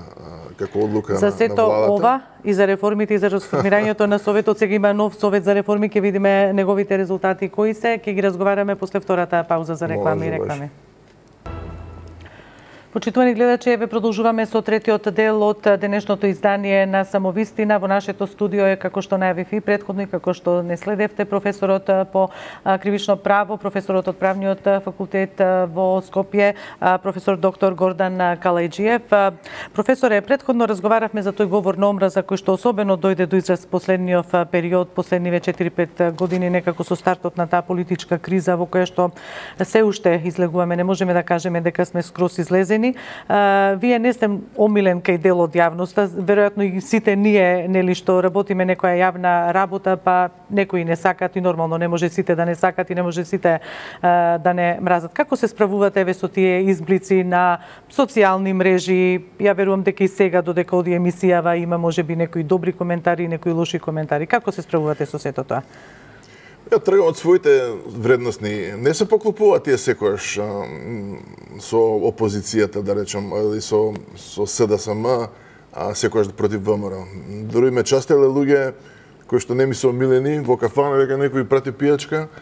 како одлука на владата. За сето ова и за реформите и за расформирањето на Советот, сега има нов Совет за реформи, ќе видиме неговите резултати кои се, ќе ги разговараме после втората пауза за реклами. Почитувани гледачи, еве продолжуваме со третиот дел од денешното издание на Самовистина. Во нашето студио е, како што најавив и претходно, како што не следевте, професорот по кривично право, професорот од Правниот факултет во Скопје, професор доктор Гордан Калајџиев. Професоре, претходно разговаравме за тој говор на омраза кој што особено дојде до израз последниот период, последниве 4-5 години, некако со стартот на таа политичка криза во која што се уште излегуваме. Не можеме да кажеме дека сме скроз излезени. Вие не сте омилен кај дел од јавноста, веројатно и сите ние, нели, што работиме некоја јавна работа, па некои не сакат и нормално не може сите да не сакат и не може сите да не мразат. Како се справувате еве со тие изблици на социјални мрежи? Ја верувам дека и сега додека оди емисијава има можеби некои добри коментари и некои лоши коментари. Како се справувате со сето тоа? Ја тргам од своите вредностни. Не се поклопуваат тие секојаш со опозицијата, да речам, или со СДСМ, секојаш против ВМРО. Дори ме частеле луѓе кои што не ми се омилени во кафана, дека некој прати пијачка,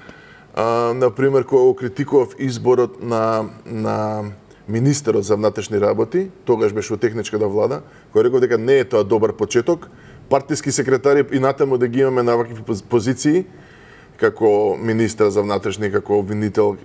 Например, кога критикував изборот на министерот за внатрешни работи, тогаш беше во техничката влада, кој реков дека не е тоа добар почеток, партиски секретари и натаму да ги имаме на вакви позиции, како министер за внатрешни, како обвинител,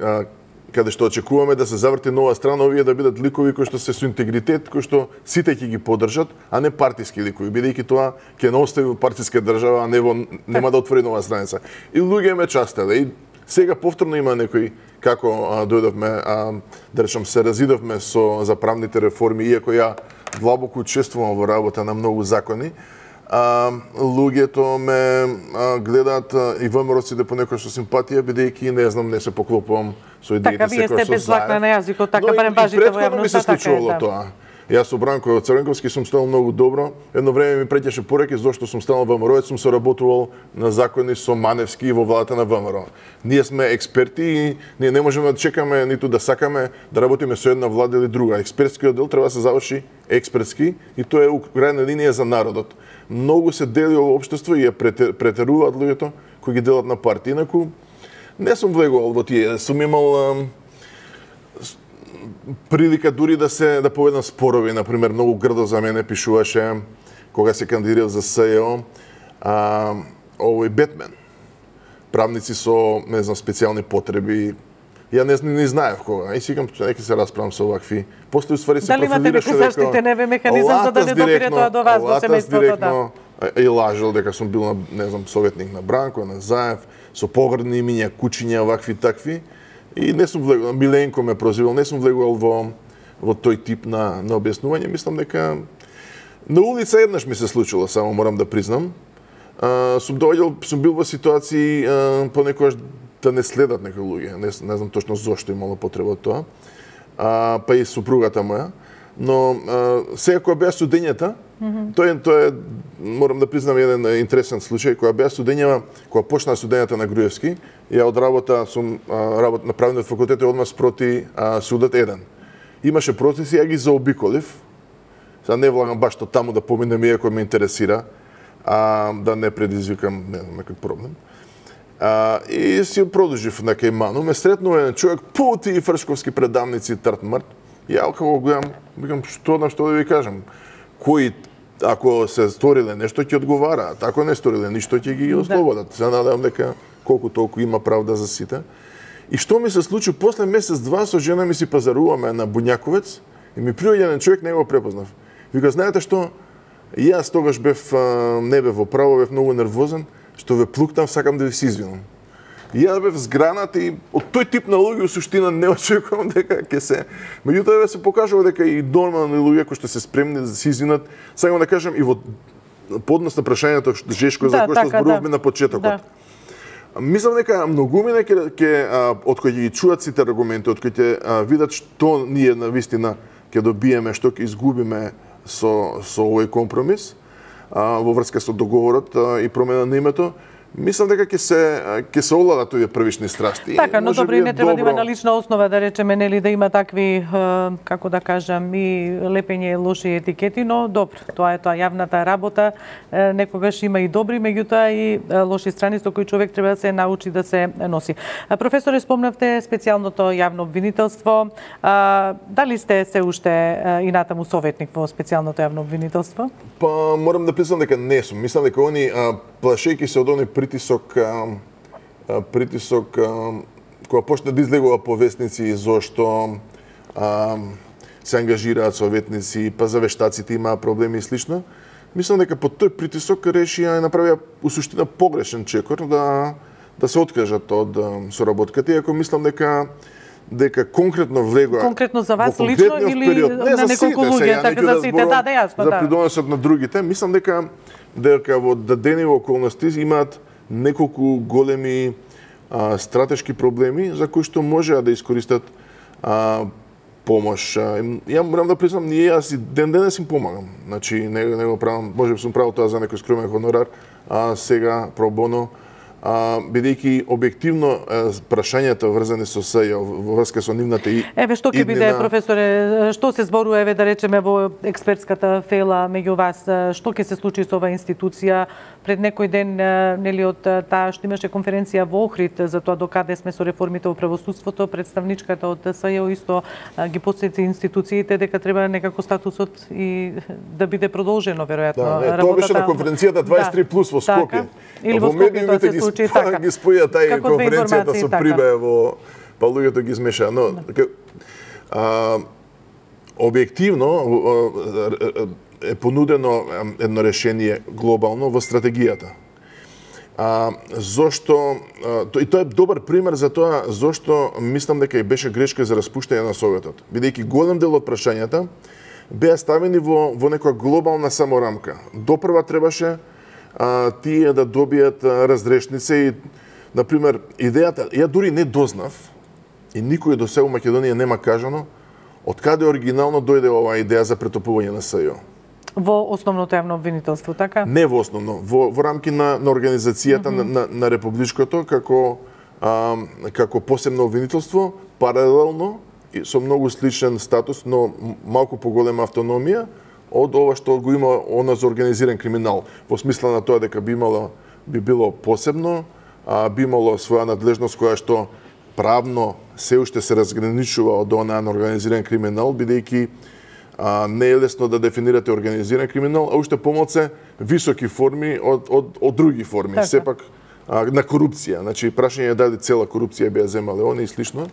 каде што очекуваме да се заврти нова страна, овие да бидат ликови кои што се со интегритет, кои што сите ќе ги поддржат, а не партиски ликови, бидејќи тоа ќе не остави во партиска држава, а нема да отвори нова страница. И луѓе ме частеле. И сега повторно има некои, како дојдовме, да речам, се разидовме за правните реформи, иако ја длабоко учествувам во работа на многу закони, луѓето ме гледаат и ВМРО-ците понекогаш со симпатија, бидејќи не се поклопувам со идеите така, вие сте без лакна на јазикот, така барем важите во јавноста, ми се случувало тоа. Јас со Бранко Црвенковски сум станал многу добро. Едно време ми преќаше пореки зашто сум станал ВМРО-ец, сум соработувал на закони со Маневски во владата на ВМРО. Ние сме експерти и ние не можеме да чекаме ниту да сакаме да работиме со една влада или друга. Експертскиот дел треба да се заврши експертски и тоа е украјна линија за народот. Многу се дели во општество и ја претеруваат луѓето кои ги делат на партии. Инаку не сум влегувал во тие. Сум имал прилика дури да поведам спорови, например, многу грдо за мене пишуваше кога се кандидирав за СЈО овој Бетмен. Правници со, не знам, специјални потреби. Ја не знаев кога. И сикам, неки се расправам со овакви. После уствари се профилираше дека... Дали имате некој заштитен механизам за да не допире тоа до вас, до семејството, да? И лажел дека сум бил, не знам, советник на Бранко, на Заев, со погрдни имиња, кучиња, вакви такви. И не сум влегувал, Миленко ме прозивал, не сум влегувал во тој тип на објаснување. Мислам дека на улица еднаш ми се случило, само морам да признам. Сум бил во ситуации понекогаш да не следат некои луѓе. Не знам точно зошто имало потреба од тоа. Па и супругата моја. Но сега кога беа студењата, тоа е, морам да признам, еден интересен случај. Кога беа студењава, кога почна студењата на Груевски, ја од работа сум на правниот факултет одмah спроти судот 1. Имаше процеси, ја ги заобиколив. Сега не влагам баш таму да поминем, иако ме интересира, да не предизвикам некој проблем. И си продолжив на Кајману, ме сретнува еден човек, тие фршковски предавници Тартмарт. Ја како гледам, викам, што да ви кажам, кои, ако се сториле нешто, ќе одговараат, ако не сториле ништо, ќе ги ослободат. Се надевам дека колку толку има правда за сите. И што ми се случи, после месец-два со жена ми си пазаруваме на Буњаковец и ми приоѓа еден човек, не го препознав. Вика, знаете што, јас тогаш не бев во право, бев многу нервозен, што ве плуктам, сакам да ви се извинам. И јас бев згранат и од тој тип на луѓе, суштина, не очекувам дека ќе се... Меѓутоа се покажува дека и нормални луѓе кои што се спремни да се извинат, сакам да кажам и во поднос на прашањето Жешко за кој што зборувавме на почетокот. Мислам дека многумина од кои ги чуат сите аргументи, од кои ќе видат што ние навистина ќе добиеме, што ќе изгубиме со овој компромис во врска со договорот и промена на името, мислам дека ќе се овладат овие првични страсти. Така, но добро, не треба да има на лична основа, да речеме, нели, да има такви, како да кажам, и лепење лоши етикети, но добро, тоа е тоа јавната работа, некогаш има и добри, меѓутоа и лоши страни со кои човек треба да се научи да се носи. Професоре, спомнавте специјалното јавно обвинителство. Дали сте се уште и натаму советник во специјалното јавно обвинителство? Па, морам да признам дека не сум. Мислам дека они, плашејќи се од они притисок кога почна да излегува повестници зошто се ангажираат советници, па за вештаците има проблеми и слично. Мислам дека под тој притисок решија и направија у суштина погрешен чекор да се откажат од соработката, иако мислам дека конкретно влегува конкретно за вас лично или на неколку луѓе, така за сите, да, јасно, за придонесот на другите, мислам дека во дадени околности имаат неколку големи стратешки проблеми за кои што можеа да искористат помош. Ја морам да признам, јас и ден-денес им помагам. Значи, не го правам, може би сум правил тоа за некој скромен хонорар, сега про боно, бидејќи објективно прашањата врзани со СЈО во врска со нивната и еве што ќе биде, професоре, што се зборува, еве да речеме во експертската фела меѓу вас, што ќе се случи со оваа институција, пред некој ден нели од таа што имаше конференција во Охрид за тоа докаде сме со реформите во правосудството, представничката од СЈО исто ги потсети институциите дека треба некако статусот и да биде продолжено веројатно работата. Тоа беше на конференцијата 23 плюс во Скопје. Или во Скопје тоа се случи така. Ги споја тај конференцијата со Прибе во па луѓето ги смеша, но објективно е понудено едно решение глобално во стратегијата. Зошто и тоа е добар пример за тоа зошто мислам дека и беше грешка за распуштање на Советот, бидејќи голем дел од прашањата беа ставени во некоја глобална саморамка. Допрва требаше тие да добијат разрешница и, например, идејата, ја дури не дознав, и никој до сега во Македонија нема кажано, од каде оригинално дојде оваа идеја за претопување на СЈО. Во основното јавно обвинителство, така? Не во основно, во рамки на организацијата на републичкото како посебно обвинителство, паралелно и со многу сличен статус, но малку поголема автономија од ова што го има она за организиран криминал, во смисла на тоа дека би било посебно, би имало своја надлежност која што правно се уште се разграничува од онаа на организиран криминал, бидејќи не е лесно да дефинирате организиран криминал, а уште помалку високи форми од други форми, така. Сепак на корупција. Значи, прашање е дали цела корупција би ја земале они и слично.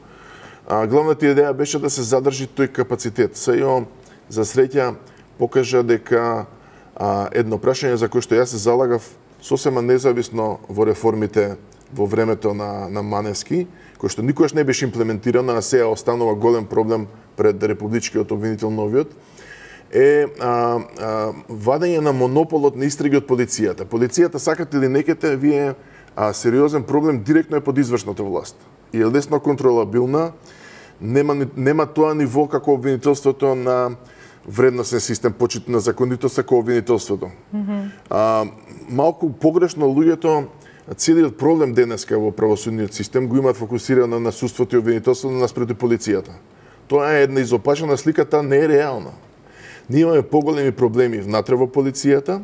Главната идеја беше да се задржи тој капацитет. СЈО, за среќа, покажа дека едно прашање за кое што јас се залагав сосема независно во реформите во времето на Маневски, кој што никогаш не беше имплементирано, а сега останува голем проблем пред републичкиот обвинител новиот, е вадење на монополот на истраги од полицијата. Полицијата, сакате или некете, вие сериозен проблем директно е под извршната власт. И е лесно контролабилна, нема тоа ниво како обвинителството на вредносен систем, почит на законитост како обвинителството. Малку погрешно луѓето целиот проблем денеска во правосудниот систем го имаат фокусирано на судството и обвинителството наспреду полицијата. Тоа е една изопачена слика, таа не е реална. Ние имаме поголеми проблеми внатре во полицијата.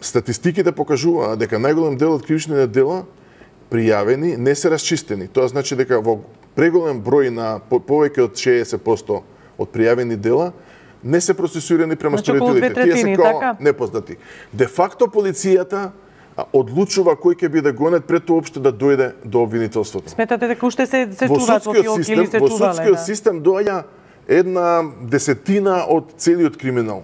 Статистиките покажуваат дека најголем дел од кривичните дела пријавени не се расчистени. Тоа значи дека во преголем број на повеќе од 60% од пријавени дела не се процесуирани према сторителите. Тие се како непознати. Де факто полицијата одлучува кој ќе биде гонет пред тоа опште да дојде до обвинителството. Сметате дека уште се чуваат во филки или се чувале? Во судскиот систем доаѓа една десетина од целиот криминал.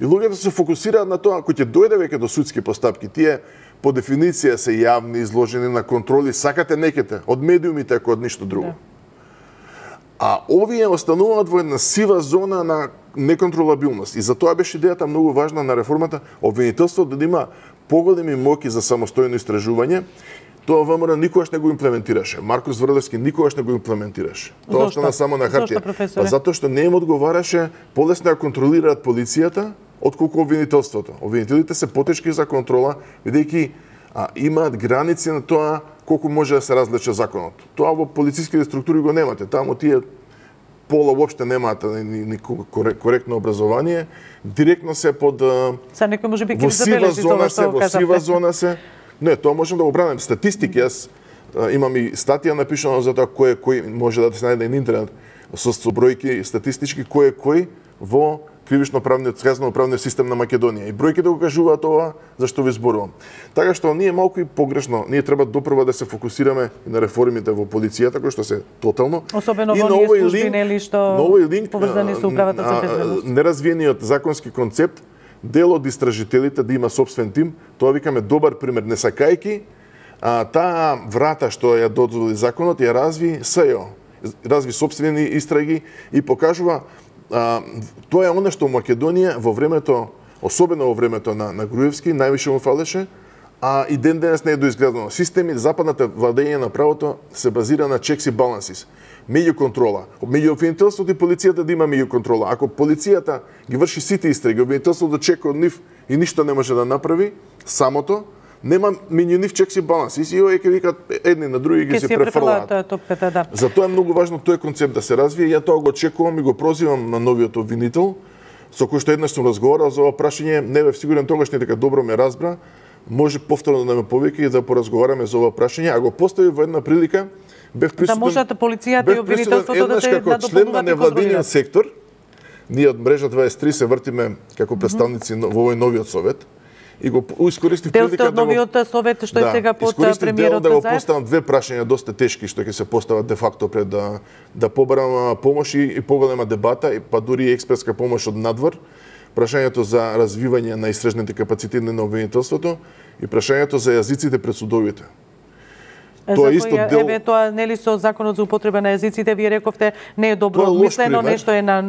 И луѓето се фокусираат на тоа, кој ќе дојде веќе до судски постапки, тие по дефиниција се јавни, изложени на контроли, сакате некете, од медиумите ако од ништо друго. А овие остануваат во една сива зона на неконтролабилност. И затоа беше идејата многу важна на реформата, обвинителството да има поголеми моки за самостојно истражување. Тоа ВМРО никогаш не го имплементираше. Маркос Врлевски никогаш не го имплементираше. Тоа остана само на хартија. Затоа што не им одговараше полесно ја контролираат полицијата отколку обвинителството. Обвинителите се потешки за контрола, бидејќи имаат граници на тоа колку може да се различа законот. Тоа во полициските структури го немате. Таму тие пола воопште немаат ни коректно образование, директно се под Са некој можеби ќе забележи тоа што кажавте. Во сива зона се. Не, тоа можам да го бранам. Статистики, јас имам и статија напишана за тоа кој може да се најде на интернет со бројки статистички кој во кривично-правниот казнено-правниот систем на Македонија. И бројките го кажуваат ова зашто ви зборувам. Така што ние малку и погрешно, ние треба допрва да се фокусираме на реформите во полицијата кои што се тотално особено во оние служби нели што поврзани со управата за безбедност. Неразвиениот законски концепт, дел од истражителите да има собствен тим, тоа викаме добар пример, не сакајки таа врата што ја дозволи законот, ја разви СЈО, разви собствени истраги и покажува тоа е она што Македонија во времето, особено во времето на Груевски, највише му фалеше, и ден денес не е доизградено. Системи западната владење на правото се базира на checks и balances, меѓу контрола. Меѓу обвинителството и полицијата да има меѓу контрола. Ако полицијата ги врши сите истраги, обвинителството чека од нив и ништо не може да направи, самото, нема меѓу нив checks и balances и овие ќе викат едни на други ги се префрлаат. Затоа е многу важно тој концепт да се развие. Ја тоа го очекувам и го прозивам на новиот обвинител со кој што еднаш сум разговарал за ова прашање, не бев сигурен тогаш не дека добро ме разбра, може повторно да ме повеќе и да поразговараме за ова прашање, а го постави во една прилика, бев присутен. Да можат полицијата и обвинителството да се како член на невладиниот сектор. Ние од мрежа 23 се вртиме како представници во овој новиот совет. И го искористив прилика да новиот совет што е сега под премиерот да го поставам две прашања доста тешки што ќе се постават де факто пред да побарам помош и поголема дебата, па дури и експертска помош од надвор. Прашањето за развивање на истражните капацитети на обвинителството и прашањето за јазиците пред судовите. Тоа исто дел тоа нели со законот за употреба на јазиците вие рековте не е добро мислено, нешто е на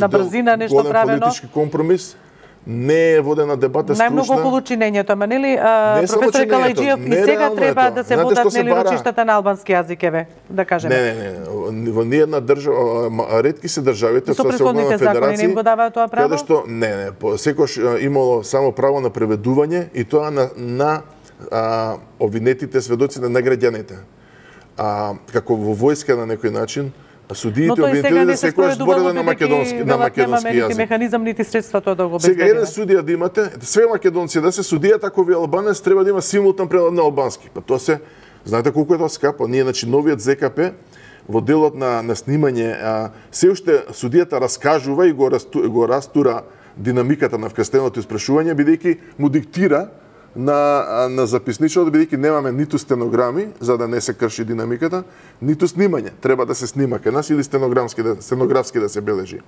брзина, нешто правено. Политички компромис. Не е водена дебата скрушна. Најмногу околу чинењето, ама нели професор Калајџиев и сега треба да се водат нели рочиштата на албански јазик, еве, да кажеме. Не. Во ниедна држава, ретки се државите со Северна федерација. Не им го даваат тоа право? Каде што секош имало само право на преведување и тоа на обвинетите, сведоците на граѓаните. Како во војска на некој начин, судиите обвинителите секој збореле на македонски јазик. Механизам нити средства тоа да го обезбедиме. Сега еден судија да имате, све македонци да се судијат, ако ви албанец треба да има симултан превод на албански. Па тоа се, знаете колку е тоа скапо? Ние значи новиот ЗКП во делот на снимање се уште судијата раскажува и го растура динамиката на вкрстеното испрашување бидејќи му диктира на записничот, бидејќи немаме ниту стенограми, за да не се крши динамиката, ниту снимање. Треба да се снима кај нас или стенографски да се бележи.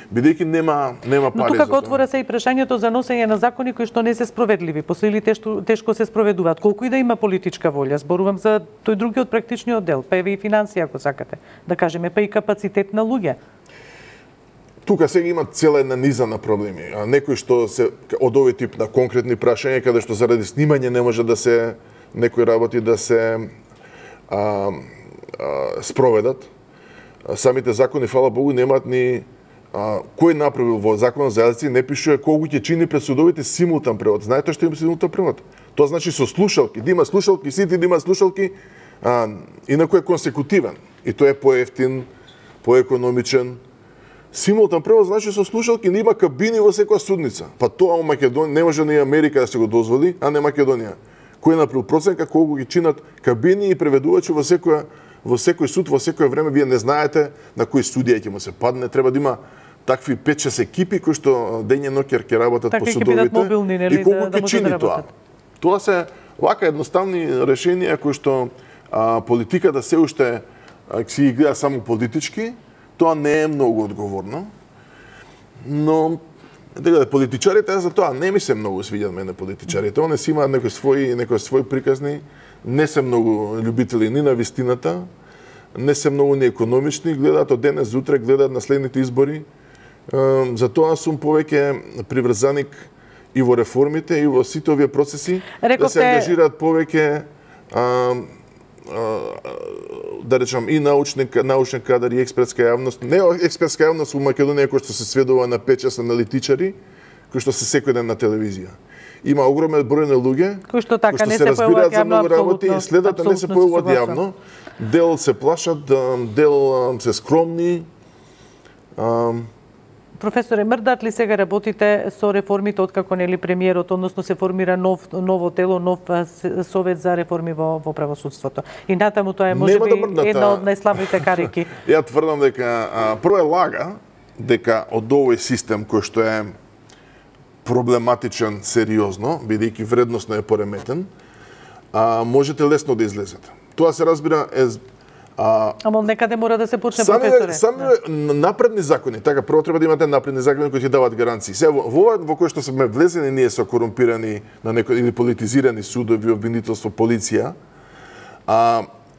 Бидејќи нема пари за тоа. Но тука отвора се и прашањето за носење на закони кои што не се справедливи, после или тешко се спроведуваат. Колку и да има политичка волја, зборувам за тој другиот практичниот дел, па еве и финансија ако сакате, да кажеме, па и капацитет на луѓе. Тука сега има цела една низа на проблеми. Некои што се од овој тип на конкретни прашања, каде што заради снимање не може да се некои работи да се спроведат. Самите закони, фала Богу, немаат ни кој направил во законот за јазици, не пишува колку ќе чини пред судовите симултан превод. Знаете што има симултан превод? Тоа значи со слушалки, да има слушалки, сите да има слушалки, инаку е консекутивен. И тоа е поевтин, поекономичен. Симултан превод значи со слушалки, не има кабини во секоја судница. Па тоа во Македонија не може ни Америка да се го дозволи, а не Македонија. Кој направил проценка колку ги чинат кабини и преведувачи во секој суд, во секое време, вие не знаете на кој судија ќе му се падне, треба да има такви 5-6 екипи кои што дење ноќер ќе работат по судовите и колку ќе чини тоа. Тоа се вака едноставни решенија кои што политиката се уште си ги гледа само политички. Тоа не е многу одговорно, но политичарите за тоа не ми се многу свиѓаат мене политичарите. Они си имаат некои своји приказни, не се многу љубители ни на вистината, не се многу ни економични, гледаат од денес за утре, гледаат на следните избори. Затоа сум повеќе приврзаник и во реформите и во сите овие процеси да се ангажираат повеќе да речам и научен кадар и експертска јавност. Не експертска јавност во Македонија кој што се сведува на 5-6 аналитичари, кои што се секој ден на телевизија. Има огромен број на луѓе кои што се разбираат за многу работи и следат не се појавуваат јавно. Дел се плашат, дел се скромни. Професоре, мрдат ли сега работите со реформите откако нели премиерот, односно се формира ново тело, нов совет за реформи во правосудството? И натаму тоа е можеби една од најслабите карики. Ја тврдам дека прво е лага дека од овој систем кој што е проблематичен сериозно, бидејќи вредносно е пореметен, можете лесно да излезете. Тоа се разбира Ама некаде мора да се почне, професоре. Сами напредни закони, така прво треба да имате напредни закони кои ќе даваат гаранции. Сега во кој што сме влезени ние со корумпирани на некои или политизирани судови, обвинителство, полиција,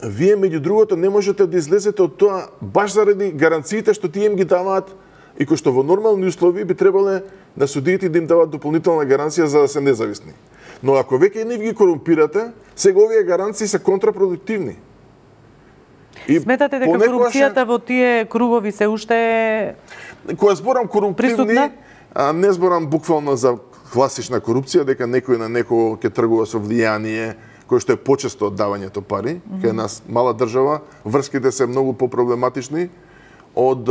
вие меѓу другото не можете да излезете од тоа баш заради гаранциите што тие им ги даваат и кои што во нормални услови би требале на судиите да им даваат дополнителна гаранција за да се независни. Но ако веќе нив ги корумпирате, сега овие гаранции се контрапродуктивни. Сметате дека корупцијата во тие кругови се уште кога зборам коруптивни, не зборам буквално за класична корупција, дека некој на некого ќе тргува со влијание, кој што е почесто од давањето пари, кај нас мала држава, врските се многу попроблематични од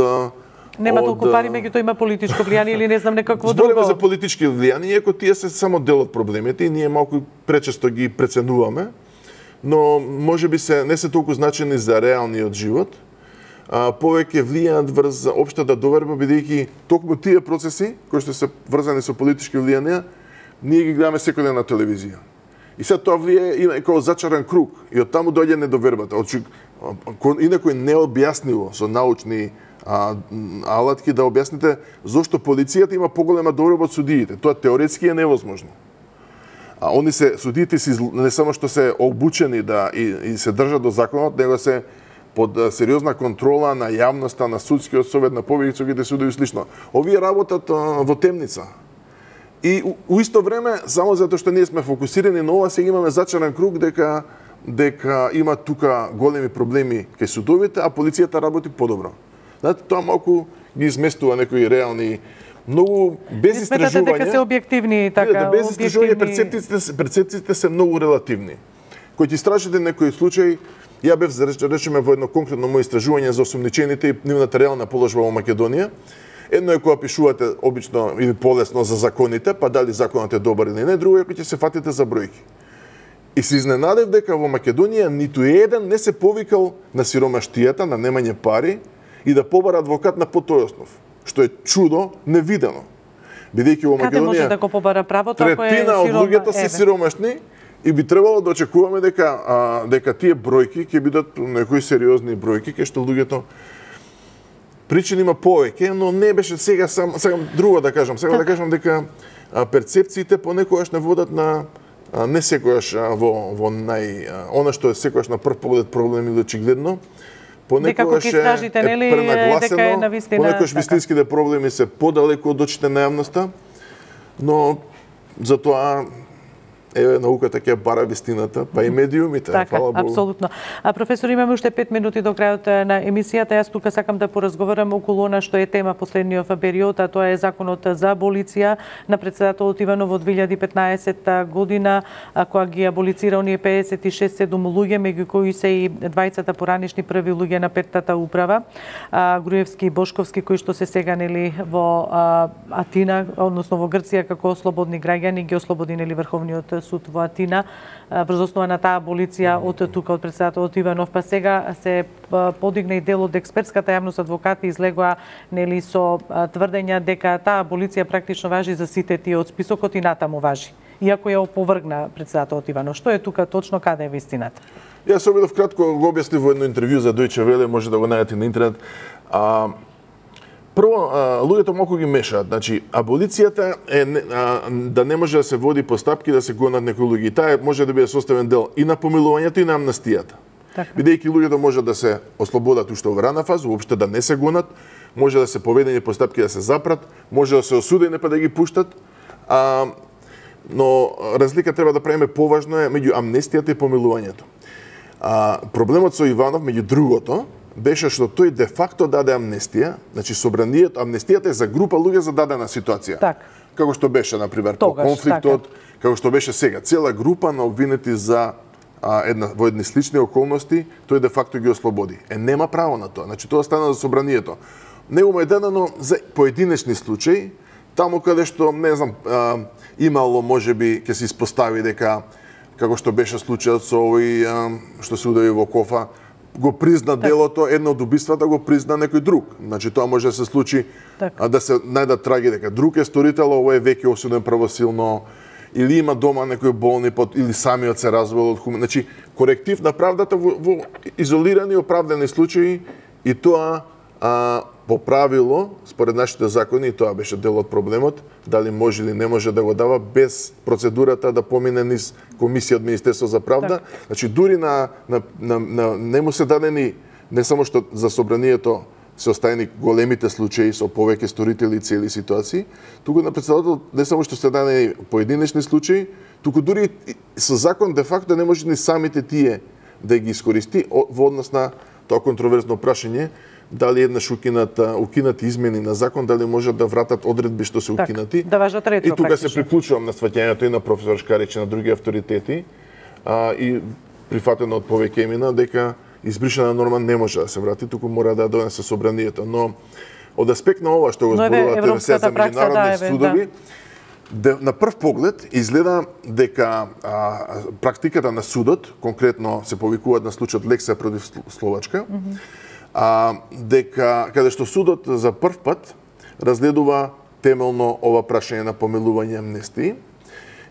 Нема толку пари, меѓутоа има политичко влијание или не знам некакво друго. Збориме за политички влијание, иако тие се само дел од проблемите и ние малку пречесто ги преценуваме, но можеби не се толку значени за реалниот живот. Повеќе влијаат врз општата доверба, бидејќи токму тие процеси кои што се врзани со политички влијанија, ние ги гледаме секој ден на телевизија. И сега тоа влијае како зачаран круг и од таму доаѓа недовербата. Инаку е необјаснливо со научни алатки да објасните зошто полицијата има поголема доверба од судиите. Тоа теоретски е невозможно. Судиите не само што се обучени и се држат до законот, него се под сериозна контрола на јавноста, на судскиот совет, на повеќето судови и слично. Овие работат во темница. И у исто време, само затоа што ние сме фокусирани на ова, сега имаме зачаран круг дека има тука големи проблеми кај судовите, а полицијата работи подобро. Знаете, тоа малку ги изместува некои реални, многу без истражување. Сметате дека се објективни така? Без истражување перцепциите се многу релативни. Кој ти истражите некој случај, ја бев речеме во едно конкретно моје истражување за осомничените и нивната реална положба во Македонија. Едно е кога пишувате обично или полесно за законите, па дали законот е добар или не, друго е кога ќе се фатите за бројки. И се изненадев дека во Македонија ниту еден не се повикал на сиромаштијата, на немање пари и да побара адвокат на потој основ, што е чудо невидено. Бидејќи во Македонија каде може да го побара правото ако е третина од луѓето се сиромашни и би требало да очекуваме дека тие бројки ќе бидат некои сериозни бројки, кај што луѓето причини има повеќе, но не беше сега друго да кажам. Сега да кажам дека перцепциите понекогаш не водат на не секогаш во она што е секогаш на прв поглед проблем или очигледно. Понекогаш е пренагласено, понекогаш вистинските проблеми се подалеку од очите на јавноста, но затоа науката ќе бара вистината, па и медиумите, фала Богу. Апсолутно. Професор, имаме уште 5 минути до крајот на емисијата. Јас тука сакам да поразговарам околу она што е тема последниот период, а тоа е законот за аболиција на претседателот Иванов во 2015 година, која ги аболицира оние 56-7 луѓе, меѓу кои се и двајцата поранишни први луѓе на петтата управа, Груевски и Бошковски, кои што се сега во Атина, односно во Грција како слободни граѓани, ги ослободи Врховниот суд во Атина врз основа на таа аболиција од тука од претседателот Иванов, па сега се подигна и дел од експертската јавност, адвокати излегоа со тврдења дека таа аболиција практично важи за сите тие од списокот и натаму важи, иако ја опровргна претседателот Иванов. Што е тука точно, каде е вистината? Јас се обидов кратко го објаснив во едно интервју за Deutsche Welle, може да го најдете на интернет. Прво, луѓето малку ги мешаат. Значи, аболицијата е да не може да се води постапки да се гонат некои луѓе. И таа може да биде составен дел и на помилувањето и на амнестијата. Бидејќи луѓето може да се ослободат уште во рана фаза, уопште да не се гонат, може да се поведени постапки да се запрат, може да се осудени па да ги пуштат. Но разлика треба да правиме поважно е меѓу амнестијата и помилувањето. Проблемот со Иванов, меѓу другото, беше што тој де факто даде амнестија, значи собранието, амнестијата е за група луѓе за дадена ситуација. Како што беше, например, по конфликтот, како што беше сега. Цела група на обвинети во едни слични околности, тој де факто ги ослободи. Нема право на тоа. Значи, тоа стана за собранието. Него му е дадено за поединечни случаи, таму каде што, не знам, имало, можеби, ќе се испостави дека, како што беше случајот со овој што се удави во Кофа, го призна делото, едно од убиствата го призна некој друг. Значи тоа може да се случи да се најдат траги дека друг е сторител, ово е веќе осуден правосилно, или има дома некој болни или самиот се развел од Значи коректив на правдата во изолирани оправдани случаи и тоа по правило, според нашите закони, и тоа беше дел од проблемот, дали може или не може да го дава без процедурата да помине низ комисија од Министерство за правда. Значи дури не му се дадени не само што за собранието се оставени големите случаи со повеќе сторители и цели ситуации, туку на председател не само што се дадени поединечни случаи, туку дури со закон де факто не може ни самите тие да ги искористи во однос на тоа контроверзно прашање дали еднаш укинати измени на закон, дали може да вратат одредби што се укинати. Да важат ретро. И тука се приклучувам на сваќањето и на професор Шкарич и на други авторитети и прифатено од повеќе имена дека избришена норма не може да се врати, туку мора да донесе собранието. Но од аспект на ова што го зборувате за меѓународни судови, на прв поглед изгледа дека практиката на судот, конкретно се повикуваат на случајот Лекса против Словачка, дека каде што судот за прв пат разгледува темелно ова прашање на помилување амнестии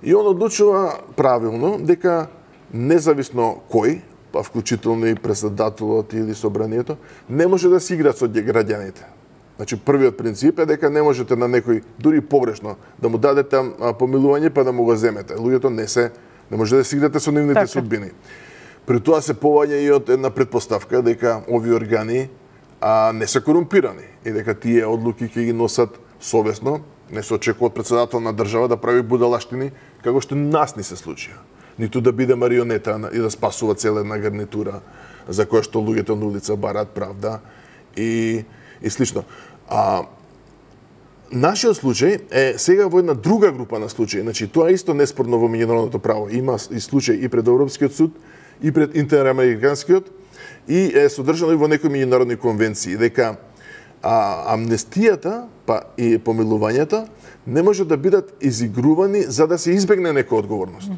и он одлучува правилно дека независно кој, па вклучително и председателот или собранието, не може да се игра со граѓаните. Значи, првиот принцип е дека не можете на некој, дури погрешно, да му дадете помилување па да му го земете. Луѓето не може да се играте со нивните судбини. При тоа се поваѓа и од една предпоставка дека овие органи не се корумпирани и дека тие одлуки ќе ги носат совесно, не се очекува од председател на држава да прави будалаштини, како што нас ни се случија. Ниту да биде марионета и да спасува цела една гарнитура за која што луѓето на улица бараат правда и слично. Нашиот случај е сега во една друга група на случаи. Значи, тоа е исто неспорно во меѓународното право. Има и случај и пред Европскиот суд, и пред Интерамериканскиот, и е содржано и во некои меѓународни конвенции, дека амнестијата па и помилувањата не може да бидат изигрувани за да се избегне некоја одговорност.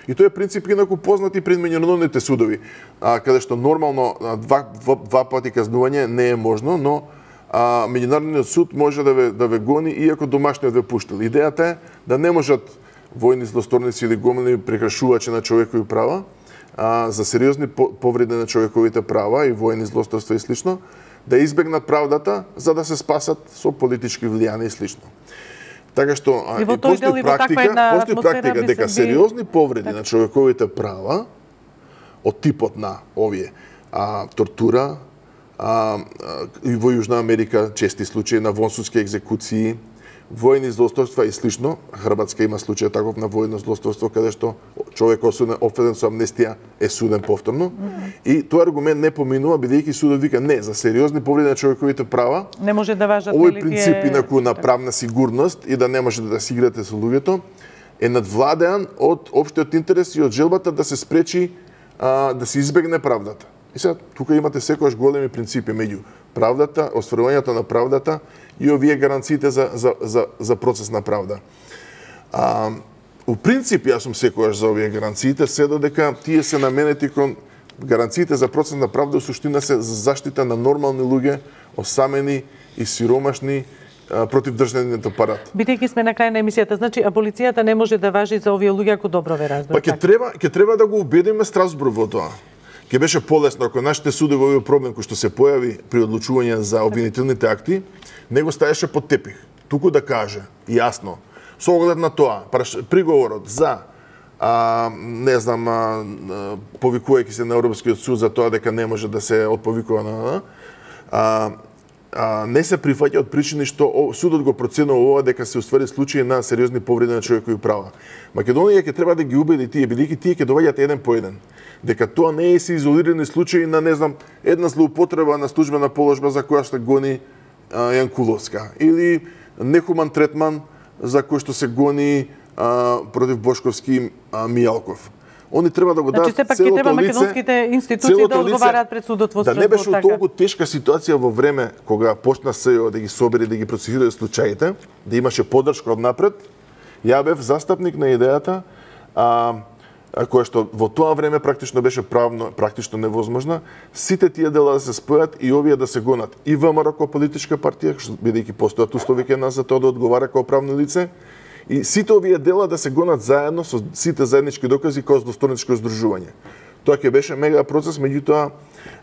И тој е принцип инаку познат и пред меѓународните судови, каде што нормално два пати казнување не е можно, но меѓународниот суд може да ве гони иако домашниот ве пуштил. Идејата е да не можат војни злосторници или гомилни прекршувачи на човекови права за сериозни повреди на човековите права и војни злосторства и слично, да избегнат правдата за да се спасат со политички влијани и слично. Така што и постои практика дека сериозни повреди на човековите права од типот на овие тортура и во Јужна Америка чести случаи на вонсудски екзекуции, војни злосторства и слично. Хрватска има случај таков на војно злосторство каде што човек офеден со амнестија е суден повторно. И тој аргумент не поминува бидејќи судот вика не, за сериозни повреди на човековите права не може да важат овој принцип инаку на правна сигурност и да не може да се играте со луѓето е надвладеан од општиот интерес и од желбата да се спречи да се избегне правдата. И сега тука имате секогаш големи принципи меѓу правдата, остварувањето на правдата и овие гаранциите за процес на правда. У принцип, јас сум секогаш за овие гаранциите, се додека тие се наменети кон гаранциите за процес на правда, у суштина се за заштита на нормални луѓе, осамени и сиромашни против државниот апарат. Бидејќи сме на крај на емисијата, значи аболицијата не може да важи за овие луѓе ако добро ве разберам. Па ќе треба да го убедиме Страсбург во тоа. Ќе беше полесно ако нашите судови овој проблем кој што се појави при одлучување за обвинителните акти, не го ставеше под тепих. Туку да каже јасно, со оглед на тоа, приговорот за повикувајќи се на Европскиот суд за тоа дека не може да се отповикува не се прифаќа од причини што судот го проценува ова дека се уствари случаи на сериозни повреди на човекови права. Македонија ќе треба да ги убеди тие, бидејќи тие ќе доаѓаат еден по еден. Дека тоа не е се изолирани случаи на, една злоупотреба на службена положба за која што гони Јанкуловска, или нехуман третман за кој што се гони против Бошковски Мијалков. Они треба да го дадат целото лице. Значи, сепак ќе треба македонските институции да одговараат пред судот во Страсбург. Да не беше толку тешка ситуација во време кога почна СЈО да ги собери, да ги процесира случаите, да имаше поддршка од напред. Ја бев застапник на идејата која што во тоа време практично беше практично невозможна, сите тие дела да се спојат и овие да се гонат и ВМРО како политичка партија, бидејќи постојат услови кај нас за тоа да одговара како правно лице, и сите овие дела да се гонат заедно со сите заеднички докази како злосторничко здружување. Тоа ќе беше мега процес, меѓутоа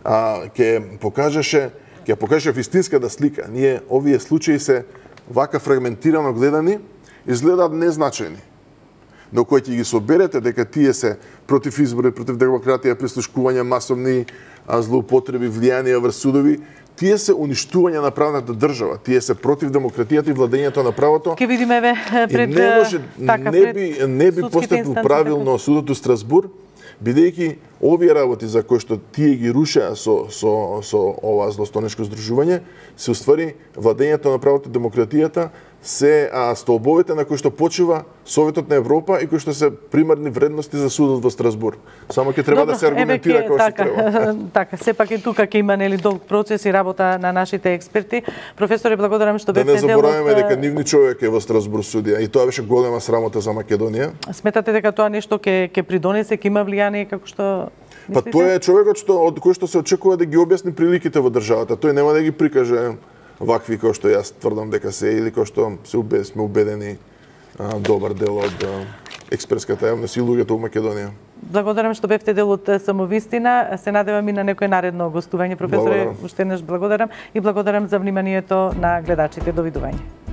ќе покажеше вистинската слика. Ние овие случаи се вака фрагментирано гледани, изгледаат незначајни. Но кој ќе ги соберете дека тие се против избори, против демократија, прислушкување, масовни злоупотреби, влијанија врз судови, тие се уништување на правната држава, тие се против демократијата и владењето на правото. Ке видиме пред не би постапил правилно судот у Страсбург, бидејќи овие работи за кои што тие ги рушеа со ова злостонешко здружување, се уствари владењето на правото, демократијата, се столбовите на кои што почива Советот на Европа и кои што се примарни вредности за судот во Страсбур. Само ќе треба да се аргументира како што треба. Така, сепак и тука ќе има долг процес и работа на нашите експерти. Професоре, благодарам што бевте дел од... Да не забораваме дека нивни човек е во Страсбур судија и тоа беше голема срамота за Македонија. Сметате дека тоа нешто ќе придонесе, ќе има влијание како што мислите? Па тој е човекот од кој што се очекува да ги објасни приликите во државата. Тој нема да ги прикаже вакви кои што јас тврдам дека се или кои што сме убедени добар дел од експертската јавност и луѓето во Македонија. Благодарам што бевте дел од Самовистина. Се надевам и на некој наредно гостување. Професоре, уште еднаш благодарам и благодарам за вниманието на гледачите. Довидување.